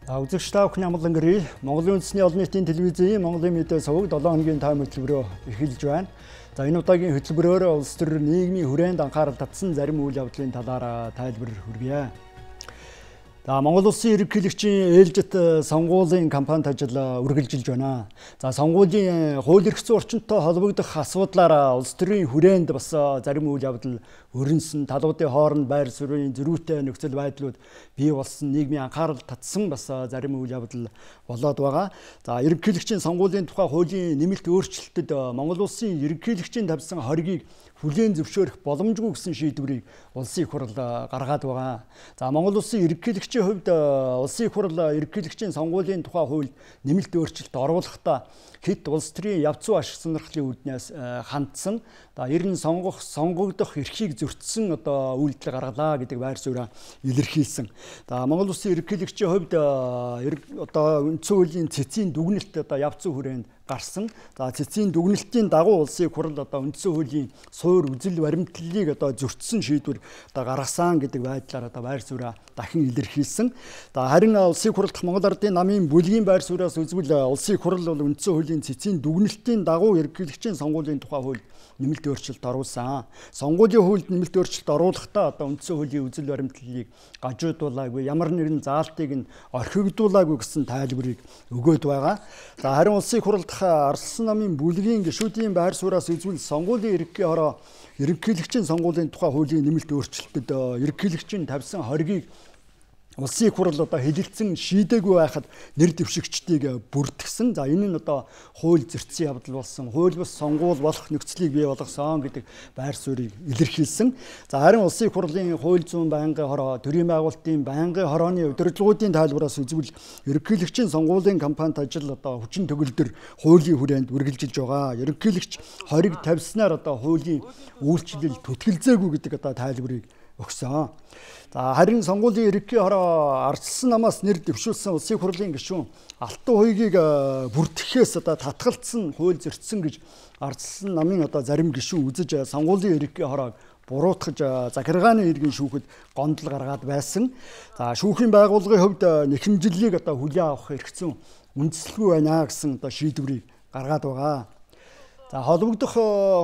Үзэгч та бүхний амгалан гэрээ Монголын үндэсний олон нийтийн телевизийн Монголын мэдээ суваг 7 хоногийн тайм хөтөлбөрөөр эхэлж байна. За энэ удаагийн хөтөлбөрөөр улс төр нийгмийн хүрээнд анхаарал татсан зарим үйл явдлын талаар тайлбар хүргье. За Монгол Улсын ерөнхийлөгчийн ээлжит сонгуулийн кампанит ажил үргэлжилж байна. За сонгуулийн хууль эрх зүйн орчинтой холбогдох асуудлаар улс төрийн хүрээнд бас зарим үйл явдал өрнөсөн, талуудын хооронд байр суурийн зөрүүтэй нөхцөл байдлууд бий болсон, нийгмийн анхаарал татсан бас зарим үйл явдал болоод байгаа. За ерөнхийлөгчийн сонгуулийн тухай хуулийн нэмэлт өөрчлөлтөд Монгол Улсын ерөнхийлөгчийн тавьсан хоргийг хүлээн зөвшөөрөх боломжгүй гэсэн шийдвэрийг улсын их хурл гаргаад байгаа. За Монгол Улсын ерөнхийлөгчийн хувьд улсын их хурл ерөнхийлөгчийн сонгуулийн тухай хуульд нэмэлт өөрчлөлт оруулахдаа хэд улс төрийн явц ашиг сонирхлын үүднээс хандсан. Ер нь сонгогдох эрхийг зөрчсөн үйлдэл гаргалаа гэдэг байр сууриа илэрхийлсэн. Монгол Улсын ерөнхийлөгчийн хувьд үндсэн хуулийн цэцгийн дүгнэлт явц хүрээнд гарсан. Цэцгийн дүгнэлтийн дагуу улсын их хурл үндсэн хуулийн суур үзэл баримтлалыг зөрчсөн шийдвэр гаргасан гэдэг байдлаар байр сууриа дахин илэрхийлсэн. Харин улсын их хурл дахь Монгол Ардын намын бүлгийн байр сууриас үзвэл улсын их хурл бол үндсэн хуулийн цэцгийн дүгнэлтийн дагуу ерөнхийлөгчийн сонгуулийн тухай хууль нэмэлт өөрчлөлт оруулсан. Сонгуулийн хуульд нэмэлт өөрчлөлт оруулахдаа үндсэн хуулийн үзэл баримтлалыг гажуудуулаагүй, ямар нэгэн заалтыг нь орхигдуулаагүй гэсэн тайлбарыг өгөөд байгаа. Харин улсын их хурл дахь Арслан намын бүлгийн гишүүдийн байр сууриас үзвэл сонгуулийн ерөнхий хороо ерөнхийлөгчийн сонгуулийн тухай хуулийн нэмэлт өөрчлөлтөд ерөнхийлөгчийн тавьсан хоргийг улсын их хурл хэлэлцэн шийдээгүй байхад нэр дэвшигчдийг бүртгэсэн. Энэ нь хууль зөрчсөн явдал болсон. Хууль бус сонгуул болох нөхцөлийг бий болгосон гэдэг байр суурийг илэрхийлсэн. Харин улсын их хурлын хууль зүйн байнгын хороо, төрийн байгуулалтын байнгын хорооны удирдлагуудын тайлбараас үзвэл ерөнхийлөгчийн сонгуулийн кампанит ажил хүчин төгөлдөр хуулийн хүрээнд үргэлжилж байгаа. Ерөнхийлөгч хориг тавьснаар хуулийн үйлчлэл түтгэлзээгүй гэдэг тайлбарыг өгсөн. Харин сонгуулийн ерөнхий хороо Арслан намаас нэр дэвшүүлсэн улсын их хурлын гишүүн Алтан хуйгийг бүртгэхээс татгалцсан, хууль зөрчсөн гэж Арслан намын зарим гишүүн үзэж сонгуулийн ерөнхий хороог буруутгаж захиргааны иргэн шүүхэд гомдол гаргаад байсан. Шүүхийн байгууллагын хувьд нэхэмжлэлийг хүлээн авах хэрэгцээ үндэслэхгүй байна гэсэн шийдвэрийг гаргаад байгаа. Холбогдох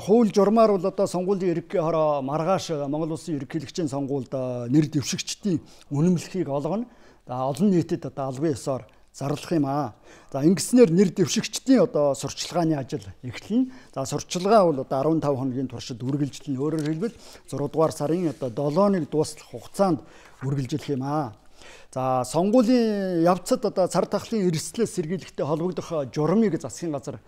хууль журмаар бол сонгуулийн ерөнхий хороо маргааш Монгол Улсын ерөнхийлөгчийн сонгуульд нэр дэвшигчдийн үнэмлэхийг олгоно. Олон нийтэд албан ёсоор зарлах юм аа. Ингэснээр нэр дэвшигчдийн сурчлагын ажил эхэлнэ. Сурчлагаа бол 15 хоногийн туршид үргэлжилнэ. Өөрөөр хэлбэл 6 дугаар сарын 7-ыг дуустал хугацаанд үргэлжлэх юм аа. Сонгуулийн явцад цар тахлын эрсдлээс сэргийлэхтэй холбогдох журмыг засгийн газар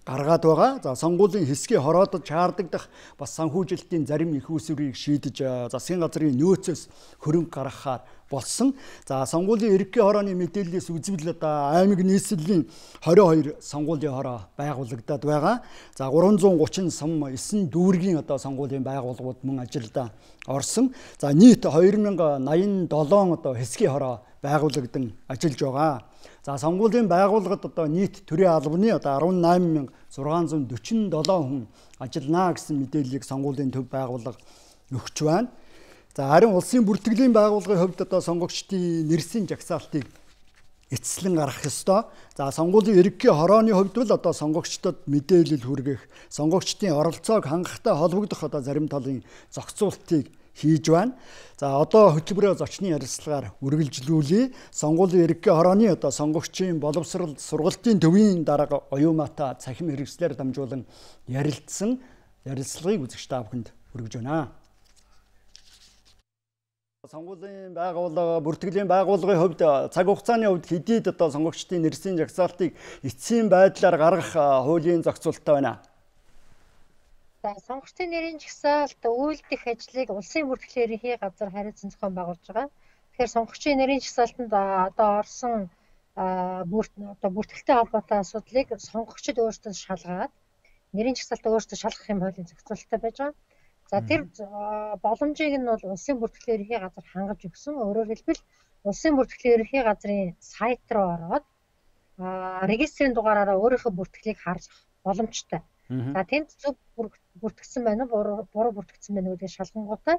гаргаад байгаа. Сонгуулийн хэсгийг хороодож чаардагдах бас санхүүжилтийн зарим их үүсвэрийг шийдэж засгийн газрын нөөцөөс хөрөнгө гаргахаар болсон. Сонгуулийн ерөнхий хорооны мэдээллээс үзвэл аймаг нийслэлийн 22 сонгуулийн хороо байгуулагдаад байгаа. 330 сум 9 дүүргийн сонгуулийн байгууллагууд мөн ажилд орсон. Нийт 2087 хэсгийн хороо байгуулагдан ажиллаж байгаа. Сонгуулийн байгууллагад нийт төрийн албаны 18,647 хүн ажиллана гэсэн мэдээллийг сонгуулийн төв байгууллага өгч байна. Харин улсын бүртгэлийн байгууллагын хувьд сонгогчдын нэрсийн жагсаалтыг эцэслэн гаргах ёстой. Сонгуулийн ерөнхий хорооны хувьд бол сонгогчдод мэдээлэл хүргэх, сонгогчдын оролцоог хангахтай холбогдох зарим талын зохицуултыг хийж байна. Хөтөлбөрөө зочны ярилцлагаар үргэлжлүүлье. Сонгуулийн ерөнхий хорооны сонгогчийн боловсрол сургалтын төвийн дарга оюумаатай цахим хэрэгслээр дамжуулан ярилцсан ярилцлагыг үзэгч та бүхэнд хүргэж байна. Сонгуулийн байгууллага, бүртгэлийн байгууллагын хувьд цаг хугацааны хувьд хэдийд сонгогчдын нэрсийн жагсаалтыг эцсийн байдлаар гаргах хуулийн зохицуулттай байна. Сонгогчдын нэрийн жагсаалт үйлдэх ажлыг улсын бүртгэлийн ерөнхий газар хариуцсан зохион байгуулж байгаа. Тэгэхээр сонгогчдын нэрийн жагсаалтанд орсон бүртгэлтэй холбоотой асуудлыг сонгогчид өөрсдөө шалгаад нэрийн жагсаалтаа өөрсдөө шалгах юм хуулийн зохицуулалттай байж байгаа. Тэр боломжийг нь бол улсын бүртгэлийн ерөнхий газар хангаж өгсөн. Өөрөөр хэлбэл улсын бүртгэлийн ерөнхий газрын сайт руу ороод регистрийн дугаараараа өөрийнхөө бүртгэлийг харж боломжтой. Тэнд зөв бүртгэсэн байна уу, буруу бүртгэсэн байна уу гэдгийг шалгангуудаа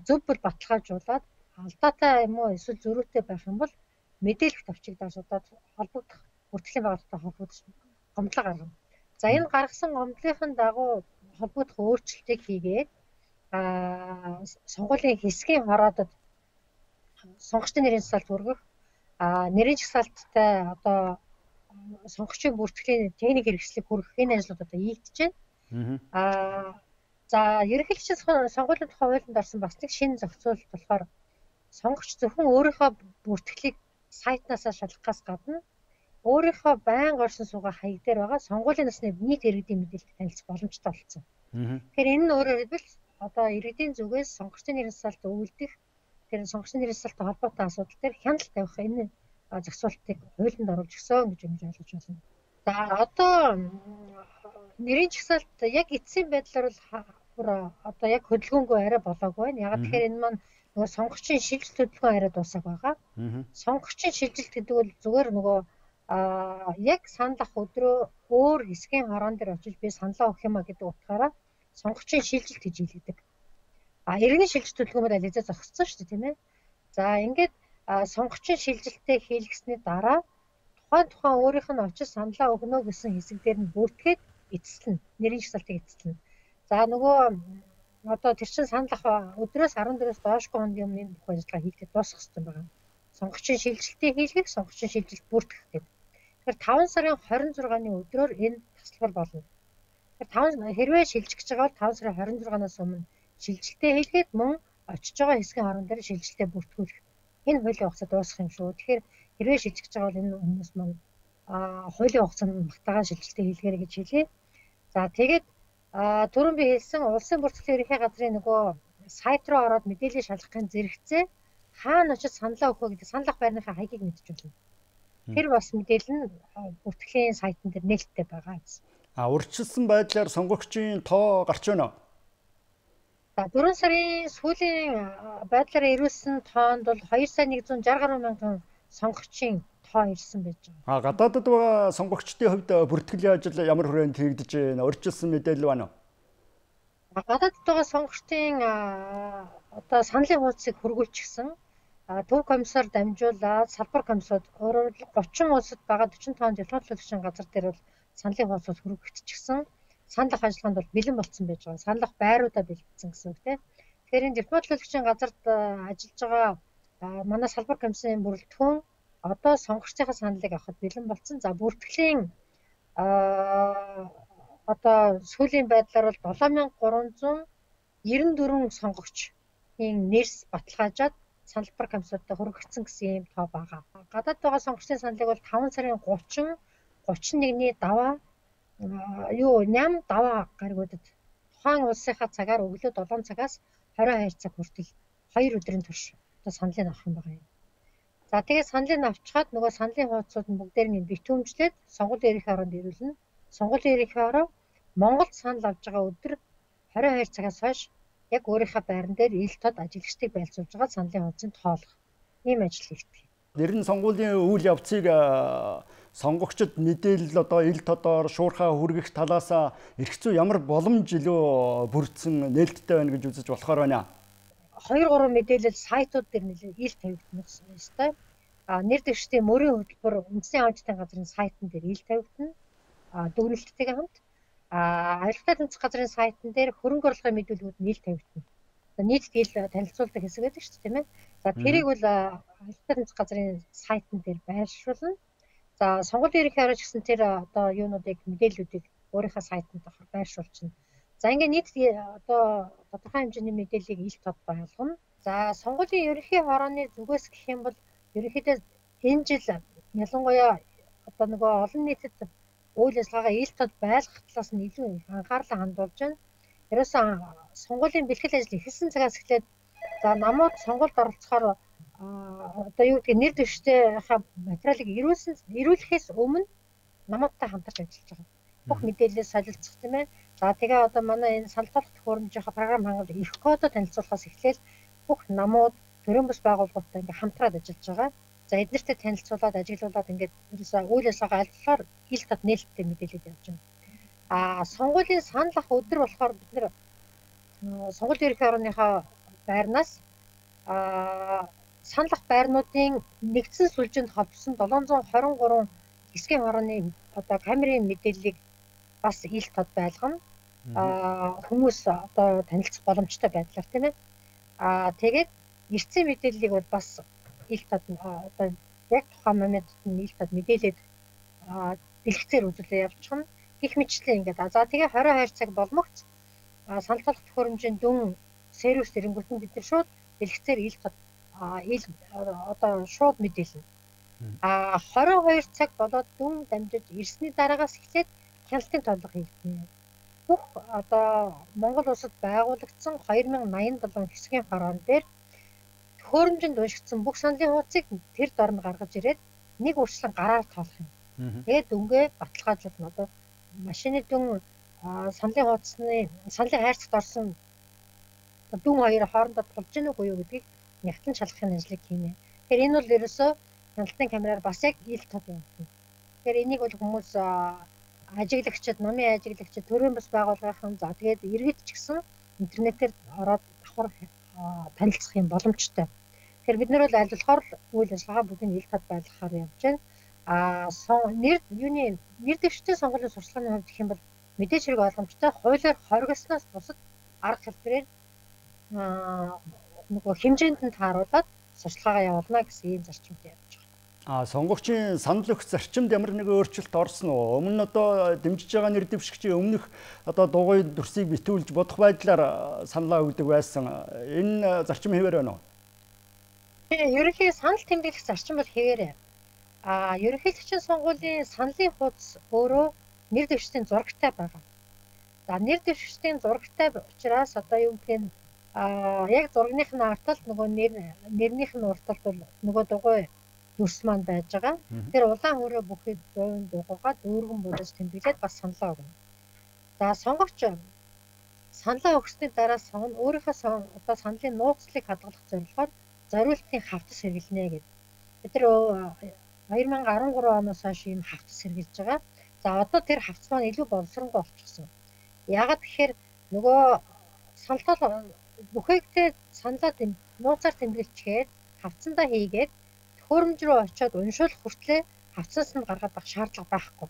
зөв бол баталгаажуулаад алдаатай юм уу эсвэл зөрүүтэй байх юм бол мэдээлэх товчигдоос одоо холбогдох бүртгэлийн байгууллагатай холбогдож гомдлоо гаргана. За энэ гаргасан гомдлын дагуу холбогдох өөрчлөлтийг хийгээд сонгуулийн хэсгийн хороодод сонгогчдын нэрийн жагсаалт хүргэх, нэрийн жагсаалттай одоо сонгогчийн бүртгэлийн техник хэрэгслийг хүргэх энэ ажлууд одоо хийгдэж байна. За ерөнхийлөгчийн сонгуулийн тухай хуулинд орсон бас нэг шинэ зохицуулалт болохоор сонгогч зөвхөн өөрийнхөө бүртгэлийг сайтнаас шалгахаас гадна өөрийнхөө байнга орсон суугаа хаяг дээр байгаа сонгуулийн насны нийт иргэдийн мэдээлэлд танилцах боломжтой болсон. Тэгэхээр энэ нь өөрөөр хэлбэл одоо иргэдийн зүгээс сонгогчдын нэрийн жагсаалт өгүүлдэх тэр сонгогчдын нэрийн жагсаалттай холбоотой асуудал дээр хяналт тавих энэ зохицуултыг хуулинд оруулж өгсөн гэж ойлгож байна. За одоо нэрийн жагсаалт яг эцсийн байдлаар бол одоо яг хөдөлгөөнгүй арай болоогүй байна. Яг тэгэхээр энэ маань нөгөө сонгогчийн шилжилт хөдөлгөөн арай дуусах байгаа. Сонгогчийн шилжилт гэдэг бол зүгээр нөгөө яг санал ах өдрөө өөр хэсгийн хороон дээр очиж би саналаа өгөх юм а гэдэг утгаараа сонгогчийн шилжилт гэж хэлдэг. Иргэний шилжилт хөдөлгөөн бол ализаа зогссон шүү дээ, тийм ээ. За ингээд сонгогчийн шилжилтээ хийлгэсний дараа тухайн өөрийнх нь очиж саналаа өгнө гэсэн хэсэг дээр нь бүртгээд эцэслэнэ. Нэрийн жагсаалтыг эцэслэнэ. За нөгөө одоо тэр чин санал ах өдрөөс 14-өөс доошгүй хоногийн өмнө энэ бүх ажиллагаа хийхдээ дуусгах хэрэгтэй байгаа. Сонгогчийн шилжилтийг хийлгэх, сонгогчийн шилжилт бүртгэх гэдэг. Тэгэхээр 5 сарын 26-ны өдрөөр энэ тасалбар болно. Тэгэхээр хэрвээ шилжих гэж байгаа бол 5 сарын 26-наас өмнө шилжилтээ хийлгээд мөн очиж байгаа хэсгийн хорон дээр шилжилтээ бүртгүүлэх. Энэ хуулийн хугацаа дуусах юм шүү. Тэгэхээр хэрвээ шилжих гэж байгаа бол энэ хүмүүс маань хуулийн хугацаанд магтаагаар шилжилтээ хийлгээрэй гэж хэлье. За тэгээд түрүүн би хэлсэн улсын бүртгэлийн ерөнхий газрын нөгөө сайт руу ороод мэдээлэл шалгахын зэрэгцээ хаана очиж саналаа өгөх вэ гэдэг санал ах байрныхаа хаягийг мэдчих болно. Тэр бас мэдээлэл нь бүртгэлийн сайтн дээр нээлттэй байгаа гэсэн. Урьдчилсан байдлаар сонгогчийн тоо гарч байна уу? За 4 сарын сүүлийн байдлаараа ирүүлсэн тоонд бол 2,160 гаруй мянган сонгогчийн тоо ирсэн байж байгаа. Гадаадд байгаа сонгогчдын хувьд бүртгэлийн ажил ямар хүрээнд хийгдэж байна? Урьдчилсан мэдээлэл байна уу? Гадаадд байгаа сонгогчдын одоо саналын хуудсыг хөргүүлчихсэн. Төв комиссар дамжуулаад салбар комиссод өөрөөр 30 улсад байгаа 45 дипломатлогчийн газар дээр бол саналын хуудсууд хөргөгдчихсэн. Санал ах ажиллагаанд бол бэлэн болцсон байж байгаа. Санал ах байруудаа бэлтгэсэн гэсэн үг тийм. Тэгэхээр энэ дипломатлогчийн газарт ажиллаж байгаа манай салбар комиссийн бүрэлдэхүүн одоо сонгогчдын саналыг авахд бэлэн болцсон. За бүртгэлийн одоо сүүлийн байдлаар бол 7394 сонгогчийн нэрс баталгаажаад салбар комиссуудад хөргөгдсөн гэсэн юм тоо байгаа. Гадаад байгаа сонгогчдын саналыг бол 5 сарын 31-ний даваа 8 даваа гаригуудад тухайн улсынхаа цагаар өглөө 7 цагаас 22 цаг хүртэл 2 өдрийн турш одоо саналыг авах юм байгаа юм. За тэгээд саналыг авчихад нөгөө саналын хуудсууд нь бүгдээр нь битүүмжлээд сонгуулийн ерөнхий хороонд ирүүлнэ. Сонгуулийн ерөнхий хороо Монголд санал авж байгаа өдөр 22 цагаас хойш яг өөрийнхөө байран дээр ил тод ажиглагчдыг байлцуулж байгаа саналын хуудсыг тоолох. Ийм ажил хийгдэх. Нэр нь сонгуулийн үйл явцыг сонгогчид мэдээлэл одоо ил тодоор шуурхаа хүргэх талаас эрх зүй ямар боломж илүү бүрдсэн нээлттэй байна гэж үзэж болохоор байна. 2-3 мэдээлэл сайтууд дээр нэлээд ил тавигдана ёстой. Нэр дэвшигчдийн мөрийн хөтөлбөр үндэсний аудитын газрын сайтн дээр ил тавигдана. Дүгнэлттэйгээ хамт авилгатай тэнцэх газрын сайтн дээр хөрөнгө оруулалтын мэдүүлгүүд нь ил тавигдана. Нийт ил танилцуулдаг хэсэг байдаг шүү дээ, тийм ээ. За тэрийг бол авилгатай тэнцэх газрын сайтн дээр байршуулна. За сонгуулийн ерөнхий хорооч гэсэн тэр одоо юунуудыг мэдээллүүдийг өөрийнхөө сайтанд байршуулчихна. За ингээд нийт одоо тодорхой хэмжээний мэдээллийг ил тод байлгана. За сонгуулийн ерөнхий хорооны зүгээс гэх юм бол ерөнхийдөө энэ жил ялангуяа одоо нөгөө олон нийтэд үйл ажиллагаагаа ил тод байлгах талаас нь илүү анхаарлаа хандуулж байна. Ерөөсөн сонгуулийн бэлтгэл ажил эхэлсэн цагаас эхлээд за намууд сонгуульд оролцохоор одоо юу гэдэг нэр дэвшигчдийнхаа материалыг ирүүлэхээс өмнө намуудтай хамтарч ажиллаж байгаа. Бүх мэдээлэлээ солилцох тийм ээ. За тэгээ одоо манай энэ санал болгох төхөөрөмжийнхаа програм хангалтыг их кодод танилцуулахаас эхлээл бүх намууд төрийн бас байгууллагуудтай ингээ хамтраад ажиллаж байгаа. За эднэртэй танилцуулаад ажиглуулад ингээд ерөөсөө үйл ажиллагаа алдлаар ил тод нээлттэй мэдээлэл явуулж байна. Сонгуулийн санал ах өдөр болохоор бид нэр сонгуулийн ерөнхий хорооныхоо байрнаас саналх байрнуудын нэгдсэн сүлжээнд холбосон 723 хэсгийн хорооны одоо камерын мэдээллийг бас ил тод байлгана. Хүмүүс одоо танилцах боломжтой байдлаар тийм ээ. Тэгээд эртний мэдээллийг бол бас ил тод одоо яг тухайн моментод нь ил тод мэдээлээд дэлгэцээр үзүүлээ явчихна. Гэх мэтчлэн ингээд за тэгээ 22 цаг болмогц санал болгох төхөөрөмжийн дүн сервис эрэнгүүтэн бид нар шууд дэлгэцээр ил тод одоо шууд мэдээлнэ. 22 цаг болоод дүн дамжиж ирсний дараагаас эхлээд хяналтын тоолго хийгдэнэ. Бүх одоо Монгол улсад байгуулагдсан 2087 хэсгийн хороон дээр төхөөрөмжинд уншигдсан бүх саналын хуудсыг тэр дорн гаргаж ирээд нэг үрчлэн гараар тоолох юм. Тэгээд дүнгээ баталгаажуулна. Одоо машины дүн саналын хуудасны саналын хайрцагт орсон дүн хоёр хоорондоо тулж гэнэ үгүй юу гэдгийг нягтлан шалгахын ажлыг хийнэ. Тэгэхээр энэ бол ерөөсөө хяналтын камераар бас яг ил тод юм. Тэгэхээр энийг бол хүмүүс ажиглагчид, номын ажиглагчид, төрийн бас байгууллагын за тэгээд иргэд ч гэсэн интернетээр ороод давхар танилцах юм боломжтой. Тэгэхээр бид нар бол аль болохоор үйл ажиллагаа бүгдийг ил тод байлгахаар явж байна. Нэр дэвштэй сонгуулийн сурчлагын хувьд гэх юм бол мэдээж хэрэг ойлгомжтой хуулиар хоригдсноос бусад арга хэлбэрээр нөгөө хэмжээнд нь тааруулаад сурчлагаа явуулна гэсэн ийм зарчимд явж байгаа. Сонгогчийн санал өгөх зарчимд ямар нэгэн өөрчлөлт орсон уу? Өмнө нь одоо дэмжиж байгаа нэр дэвшигчийн өмнөх одоо дугуй дүрсийг битүүлж бодох байдлаар саналаа өгдөг байсан. Энэ зарчим хэвээр байна уу? Ерөнхий санал тэмдэглэх зарчим бол хэвээрээ. Ерөнхийлөгчийн сонгуулийн саналын хуудас өөрөө нэр дэвшигчдийн зурагтай байгаа. За нэр дэвшигчдийн зурагтай учраас одоо юу гэх нь яг зурагных нь арталт нөгөө нэрнийх нь урталт бол нөгөө дугуй дүрс маань байж байгаа. Тэр улаан хөрөө бүхий дуун дугуйгаа дүүргэн бодож тэмдэглээд бас саналаа өгнө. За сонгогч саналаа өгсөний дараа өөрийнхөө одоо саналын нууцлыг хадгалах зорилгоор зориултын хавцас хэрэглэнэ гэдэг. Бид нар 2013 оноос хойш ийм хавцас хэрэгжилж байгаа. За одоо тэр хавцас маань илүү боловсронгуй болчихсон. Яагаад гэхээр нөгөө саналаа бүхээгтэй саналаа нууцаар тэмдэглэчгээд хавцсандаа хийгээд төхөөрөмж рүү очиод уншуулах хүртлээр хавцаас нь гаргаад байх шаардлага байхгүй.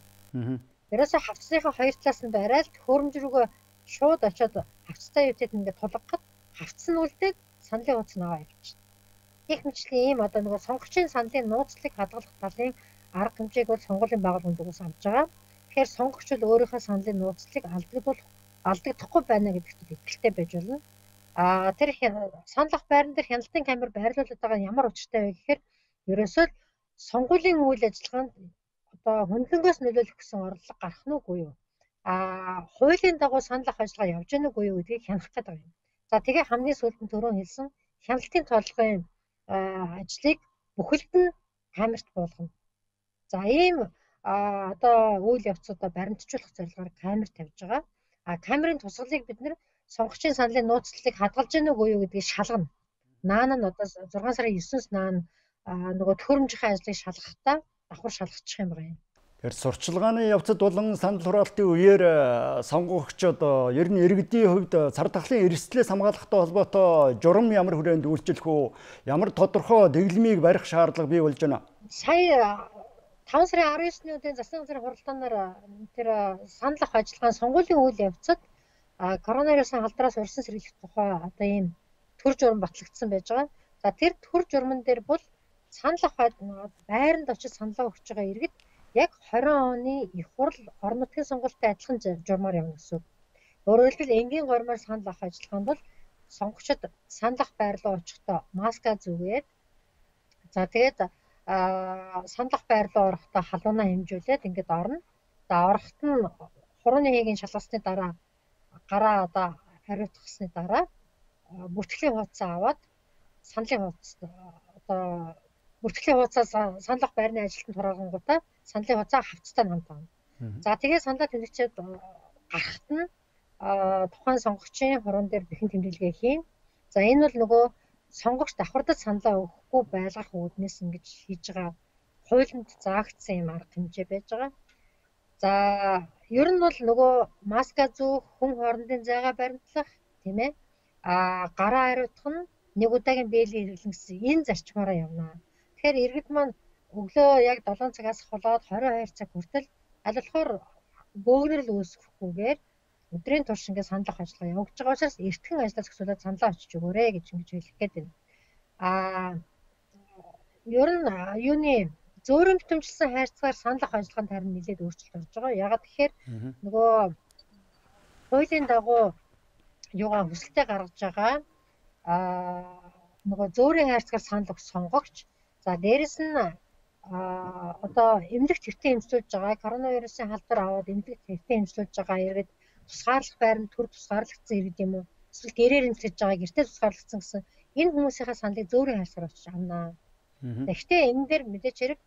Ерөөсөө хавцсныхаа хоёр талаас нь барайл төхөөрөмж рүүгээ шууд очиод хавцтай юутэд ингээд тулгахад хавцс нь үлдээд саналын хуудас наваа явчихна. Гэх мэтчлэн ийм одоо нөгөө сонгогчийн саналын нууцлыг хадгалах талын арга хэмжээг бол сонгуулийн байгууллагын зүгээс авч байгаа. Тэгэхээр сонгогч бол өөрийнхөө саналын нууцлыг алдагдахгүй байна гэдэгт итгэлтэй байж болно. Тэр саналх байран дээр хяналтын камер байрлуулад байгаа ямар учиртай вэ гэхээр ерөөсөө сонгуулийн үйл ажиллагаанд одоо хөндлөнгөөс нөлөөлөх гэсэн орлого гарах нь үгүй юу? Хуулийн дагуу санал авах ажиллагаа явж гэнэ үгүй юу гэдгийг хянах гэдэг юм. За тэгээ хамгийн сүүлд нь түрүүн хэлсэн хяналтын тоолгын ажлыг бүхэлд нь камерт буулгана. За ийм одоо үйл явцуудаа баримтжуулах зорилгоор камер тавьж байгаа. Камерын тусгалыг бид нэр сонгогчийн саналын нууцлалыг хадгалж гэнэ үгүй юу гэдгийг шалгана. Наан нь одоо 6 сарын 9-ноос наан нөгөө төхөөрөмжийн ажлыг шалгахдаа давхар шалгачих юм байна. Тэгэхээр сурчлагын явцад болон санал хураалтын үеэр сонгогчдод ер нь иргэдийн хувьд цар тахлын эрсдлээс хамгаалахтай холбоотой журам ямар хүрээнд үйлчлэх үү? Ямар тодорхой дэглэмийг барих шаардлага бий болж байна? Сая 5 сарын 19-ний өдрийн засгийн газрын хуралдаанаар тэр санал авах ажиллагааны сонгуулийн үйл явцад коронавирусын халдраас урьдчилан сэргийлэх тухай одоо ийм төр журам батлагдсан байж байгаа. За тэр төр журман дээр бол санал авах байранд очиж саналаа өгч байгаа иргэд яг 20 оны их хурл орон нутгийн сонгуультай адилхан журмаар явна гэсэн. Өөрөөр хэлбэл энгийн гормоор санал авах ажиллагаанд бол сонгогчид санал авах байр руу очихдоо маска зүгээд за тэгээд санал авах байр руу орохдоо халуунаа хэмжүүлээд ингээд орно. За орохт нь хурууны хийгийн шалгасны дараа гараа одоо хариуцахсны дараа бүртгэлийн хуудасаа аваад саналын хуудас одоо бүртгэлийн хуудасаас санал авах байрны ажилтнанд хураангуудаа саналын хуудасаа хавцтай хамт авна. За тэгээ саналаа тэмдэгчээд гарахт нь тухайн сонгогчийн хуруунд дээр бэхэн тэмдэглэгээ хийн. За энэ бол нөгөө сонгогч давхардаж саналаа өгөхгүй байлгах үүднээс ингэж хийж байгаа хуулинд заагдсан юм арга хэмжээ байж байгаа. За ер нь бол нөгөө маска зүүх, хүн хоорондын зайгаа баримтлах, тийм ээ. Гараа хариуцах нь нэг удаагийн бэлгийн хэрэглэн гэсэн энэ зарчмаараа явна. Тэгэхээр иргэд маань өглөө яг 7 цагаас холоод 22 цаг хүртэл аль болохоор бөөгнөрл үүсгэхгүйгээр өдрийн турш ингээд санал авах ажиллагаа явагдаж байгаа учраас эртхэн ажлаа зохицуулаад саналаа очиж өгөөрэй гэж ингэж хэлэх гээд байна. Ер нь юуны зөөрөн битэмжилсэн хайрцагаар санал авах ажиллагаанд харин нэлээд өөрчлөлт орж байгаа. Ягаад гэхээр нөгөө хуулийн дагуу юугаа хүсэлтэд гаргаж байгаа нөгөө зөөрийн хайрцагаар санал өгөх сонгогч. За дээрэс нь одоо эмнэлэгт хэртээ эмчилж байгаа коронавирусын халдвар аваад эмнэлэгт хэртээ эмчилж байгаа иргэд тусгаарлах байранд төр тусгаарлагдсан иргэд юм уу? Эсвэл гэрээр эмчилж байгаа гэртээ тусгаарлагдсан гэсэн энэ хүмүүсийнхээ саналыг зөөрийн хайрцагаар очиж авнаа. Гэхдээ энэ дээр мэдээч хэрэг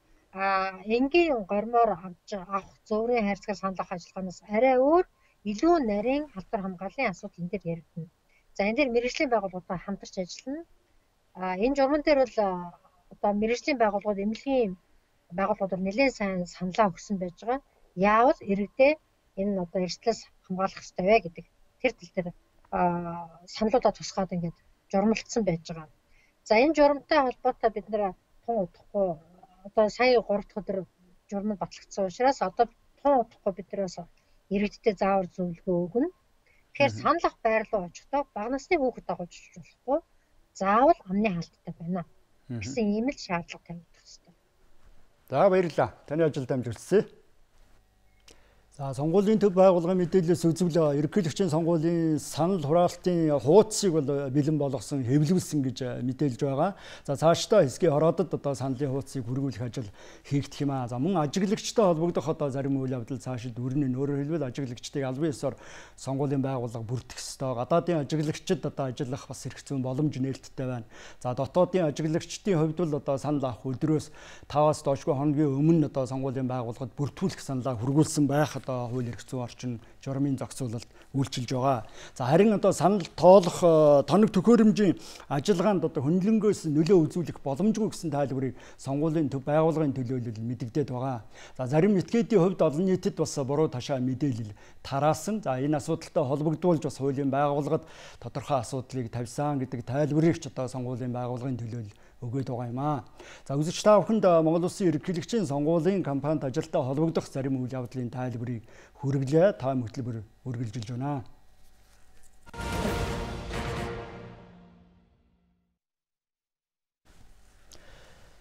энгийн гормоор авах зөөрийн хайрцагаар санал авах ажиллагаанаас арай өөр илүү нарийн халдвар хамгааллын асуудал энэ дээр яригдана. За энэ дээр мэргэжлийн байгууллагуудаа хамтарч ажиллана. Энэ журман дээр бол одоо мэргэжлийн байгууллагууд эмнэлгийн байгууллагуудаар нэлээд сайн саналаа өгсөн байж байгаа. Яавал иргэдээ энэ одоо эрсдлээс хамгаалах хэрэгтэй вэ гэдэг тэр тал дээр саналуудаа тусгаад ингээд журмалцсан байж байгаа. За энэ журамтай холбоотой бид нэр тун удахгүй одоо сая 3 дахь өдөр журмал батлагдсан учраас одоо тун удахгүй бид нэрээс иргэдтэй заавар зөвлөгөө өгнө. Тэгэхээр санал авах байр руу очихдоо бага насны хүүхэд дагуулж болохгүй заавал амны хаалттай байна гэсэн ийм л шаардлага тавигдах хэрэгтэй. За баярлалаа. Таны ажилд амжилтсэ. За сонгуулийн төв байгууллагын мэдээлэлээс үзвэл ерөнхийлөгчийн сонгуулийн санал хураалтын хуудсыг бол бэлэн болгосон, хэвлүүлсэн гэж мэдээлж байгаа. За цаашдаа хэсгийн хороодод одоо саналын хуудсыг хүргүүлэх ажил хийгдэх юм аа. За мөн ажиглагчтай холбогдох одоо зарим үйл явдал цаашид өрнө. Өөрөөр хэлбэл ажиглагчдыг албан ёсоор сонгуулийн байгууллага бүртгэх ёстой. Гадаадын ажиглагчид одоо ажиллах бас эрх зүйн боломж нээлттэй байна. За дотоодын ажиглагчдын хувьд бол одоо санал авах өдрөөс 5-аас доошгүй хоногийн өмнө одоо сонгуулийн байгууллагад бүртгүүлэх саналаа хүргүүлсэн байх хууль эрх зүйн орчин журмын зохицуулалт үйлчилж байгаа. За харин одоо санал тоолох тоног төхөөрөмжийн ажиллагаанд одоо хөндлөнгөөс нөлөө үзүүлэх боломжгүй гэсэн тайлбарыг сонгуулийн төв байгууллагын төлөөлөл мэдэгдээд байгаа. За зарим этгээдийн хувьд олон нийтэд бас буруу ташаа мэдээлэл тараасан. За энэ асуудалтай холбогдуулж бас хуулийн байгууллагад тодорхой асуудлыг тавьсан гэдэг тайлбарыг ч одоо сонгуулийн байгууллагын төлөөлөл өгөөд байгаа юм аа. За үзэгч та бүхэнд Монгол Улсын ерөнхийлөгчийн сонгуулийн кампанит ажилтай холбогдох зарим үйл явдлын тайлбарыг хүргэлээ. Та хөтөлбөр үргэлжилж байна.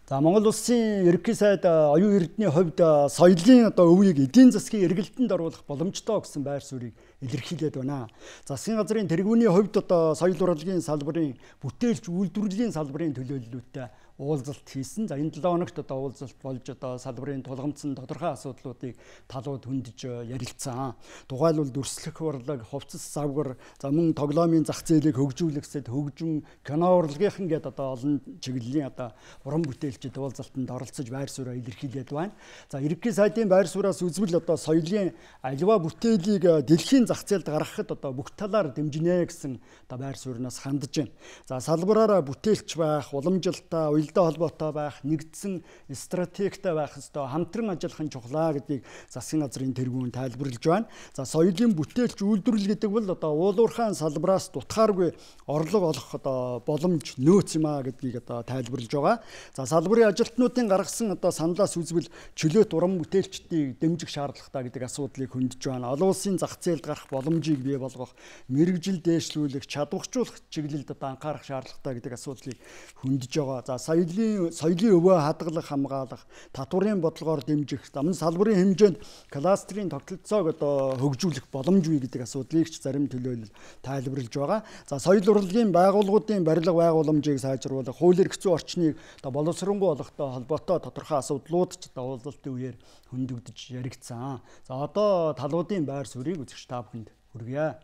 За Монгол Улсын ерөнхий сайд оюун эрдэнийн хувьд соёлын одоо өвийг эдийн засгийн эргэлтэнд оруулах боломжтой гэсэн байр суурийг илэрхийлээд байна. Засгийн газрын тэргүүний хувьд одоо соёл урлагийн салбарын бүтээлч үйлдвэрлэлийн салбарын төлөөллөлтөд уулзалт хийсэн. За энэ 7 хоногт одоо уулзалт болж одоо салбарын тулгамдсан тодорхой асуудлуудыг талууд хөндөж ярилцсан. Тухайлбал дүрслэх урлаг, хувцас завгар, за мөн тоглоомын зах зээлийг хөгжүүлэхэд хөгжим, кино урлагийнхан гээд одоо олон чиглэлийн одоо уран бүтээлчид уулзалтанд оролцож байр сууриа илэрхийлээд байна. За ерөнхий сайдын байр сууриас үзвэл одоо соёлын аливаа бүтээлийг дэлхийн зах зээлд гаргахад одоо бүх талаар дэмжинэ гэсэн одоо байр сууринаас хандж байна. За салбараараа бүтээлч байх, уламжилтаа, уялдаа холбоотой байх, нэгдсэн стратегтэй байх ёстой, хамтран ажиллах нь чухлаа гэдгийг засгийн газрын тэргүүн тайлбарлаж байна. За соёлын бүтээлч үйлдвэрлэл гэдэг бол одоо уулуурхаан салбараас дутхааргүй орлого олох одоо боломж нөөц юм а гэдгийг одоо тайлбарлаж байгаа. За салбарын ажилтнуудын гаргасан одоо саналаас үзвэл чөлөөт уран бүтээлчдийг дэмжих шаардлагатай гэдэг асуудлыг хөндөж байна. Олон улсын зах зээлд гарах боломжийг бий болгох, мэрэгжил дээшлүүлэх, чадварчуулах чиглэлд одоо анхаарах шаардлагатай гэдэг асуудлыг хөндөж байгаа. За соёлын өвөө хадгалах, хамгаалах, татварын бодлогоор дэмжих, замын салбарын хэмжээнд кластерын тогтолцоог одоо хөгжүүлэх боломжгүй гэдэг асуудлыг ч зарим төлөөлөл тайлбарлаж байгаа. За соёл урлагийн байгууллагуудын барилга байгууламжийг сайжруулах, хууль эрх зүйн орчныг одоо боловсронгуй болгохтой холбоотой тодорхой асуудлууд ч одоо уулзалтын үеэр хөндөгдөж яригдсан. За одоо талуудын байр суурийг үзэгч та бүхэнд хүргье.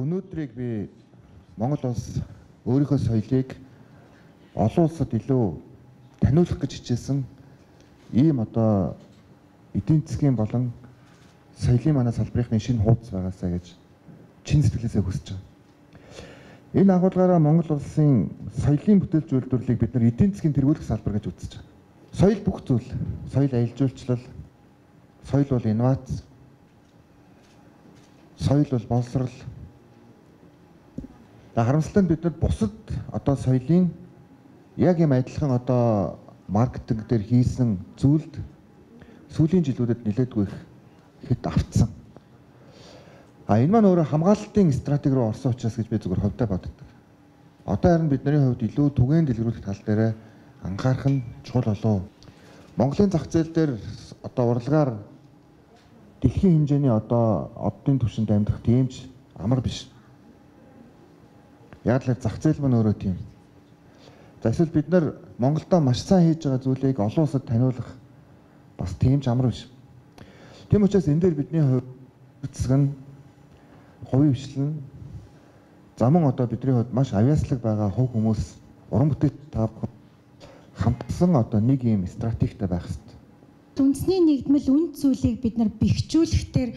Өнөөдрийг би Монгол улс өөрийнхөө соёлыг олон улсад илүү таниулах гэж хичээсэн ийм одоо эдийн засгийн болон соёлын манай салбарынхны шинэ хуудас байгаасаа гэж чин сэтгэлээсээ хүсэж байна. Энэ агуулгаараа Монгол улсын соёлын бүтээлч үйлдвэрлэлийг бид нар эдийн засгийн тэргүүлэх салбар гэж үзэж байна. Соёл бүх зүйл, соёл аялал жуулчлал, соёл бол инновац, соёл бол боловсрал. Харамсалтай нь бид бусад одоо соёлын яг юм адилхан одоо маркетинг дээр хийсэн зүйлд сүүлийн жилүүдэд нэлээдгүй хэд автсан. Энэ маань өөрөө хамгаалалтын стратеги руу орсон учраас гэж би зүгээр хувьдаа боддог. Одоо харин бидний хувьд илүү түгээн дэлгэрүүлэх тал дээр анхаарах нь чухал болов. Монголын зах зээл дээр одоо урлагаар дэлхийн хэмжээний одоо оддын түвшинд амьдрах тиймч амар биш. Яг л зах зээл маань өөрөө тийм. За эсвэл бид нар Монголдо маш сайн хийж байгаа зүйлийг олон улсад таниулах бас тиймч амар биш. Тийм учраас энэ дээр бидний хувьд нь хувийн хвшлэн замун одоо бидний хувьд маш авьяаслаг байгаа хувь хүмүүс уран бүтээл тав хамтсан одоо нэг юм стратегтэй байх хэрэгтэй. Үндэсний нэгдмэл үнд зүйлийг бид нар бэхжүүлэхдээ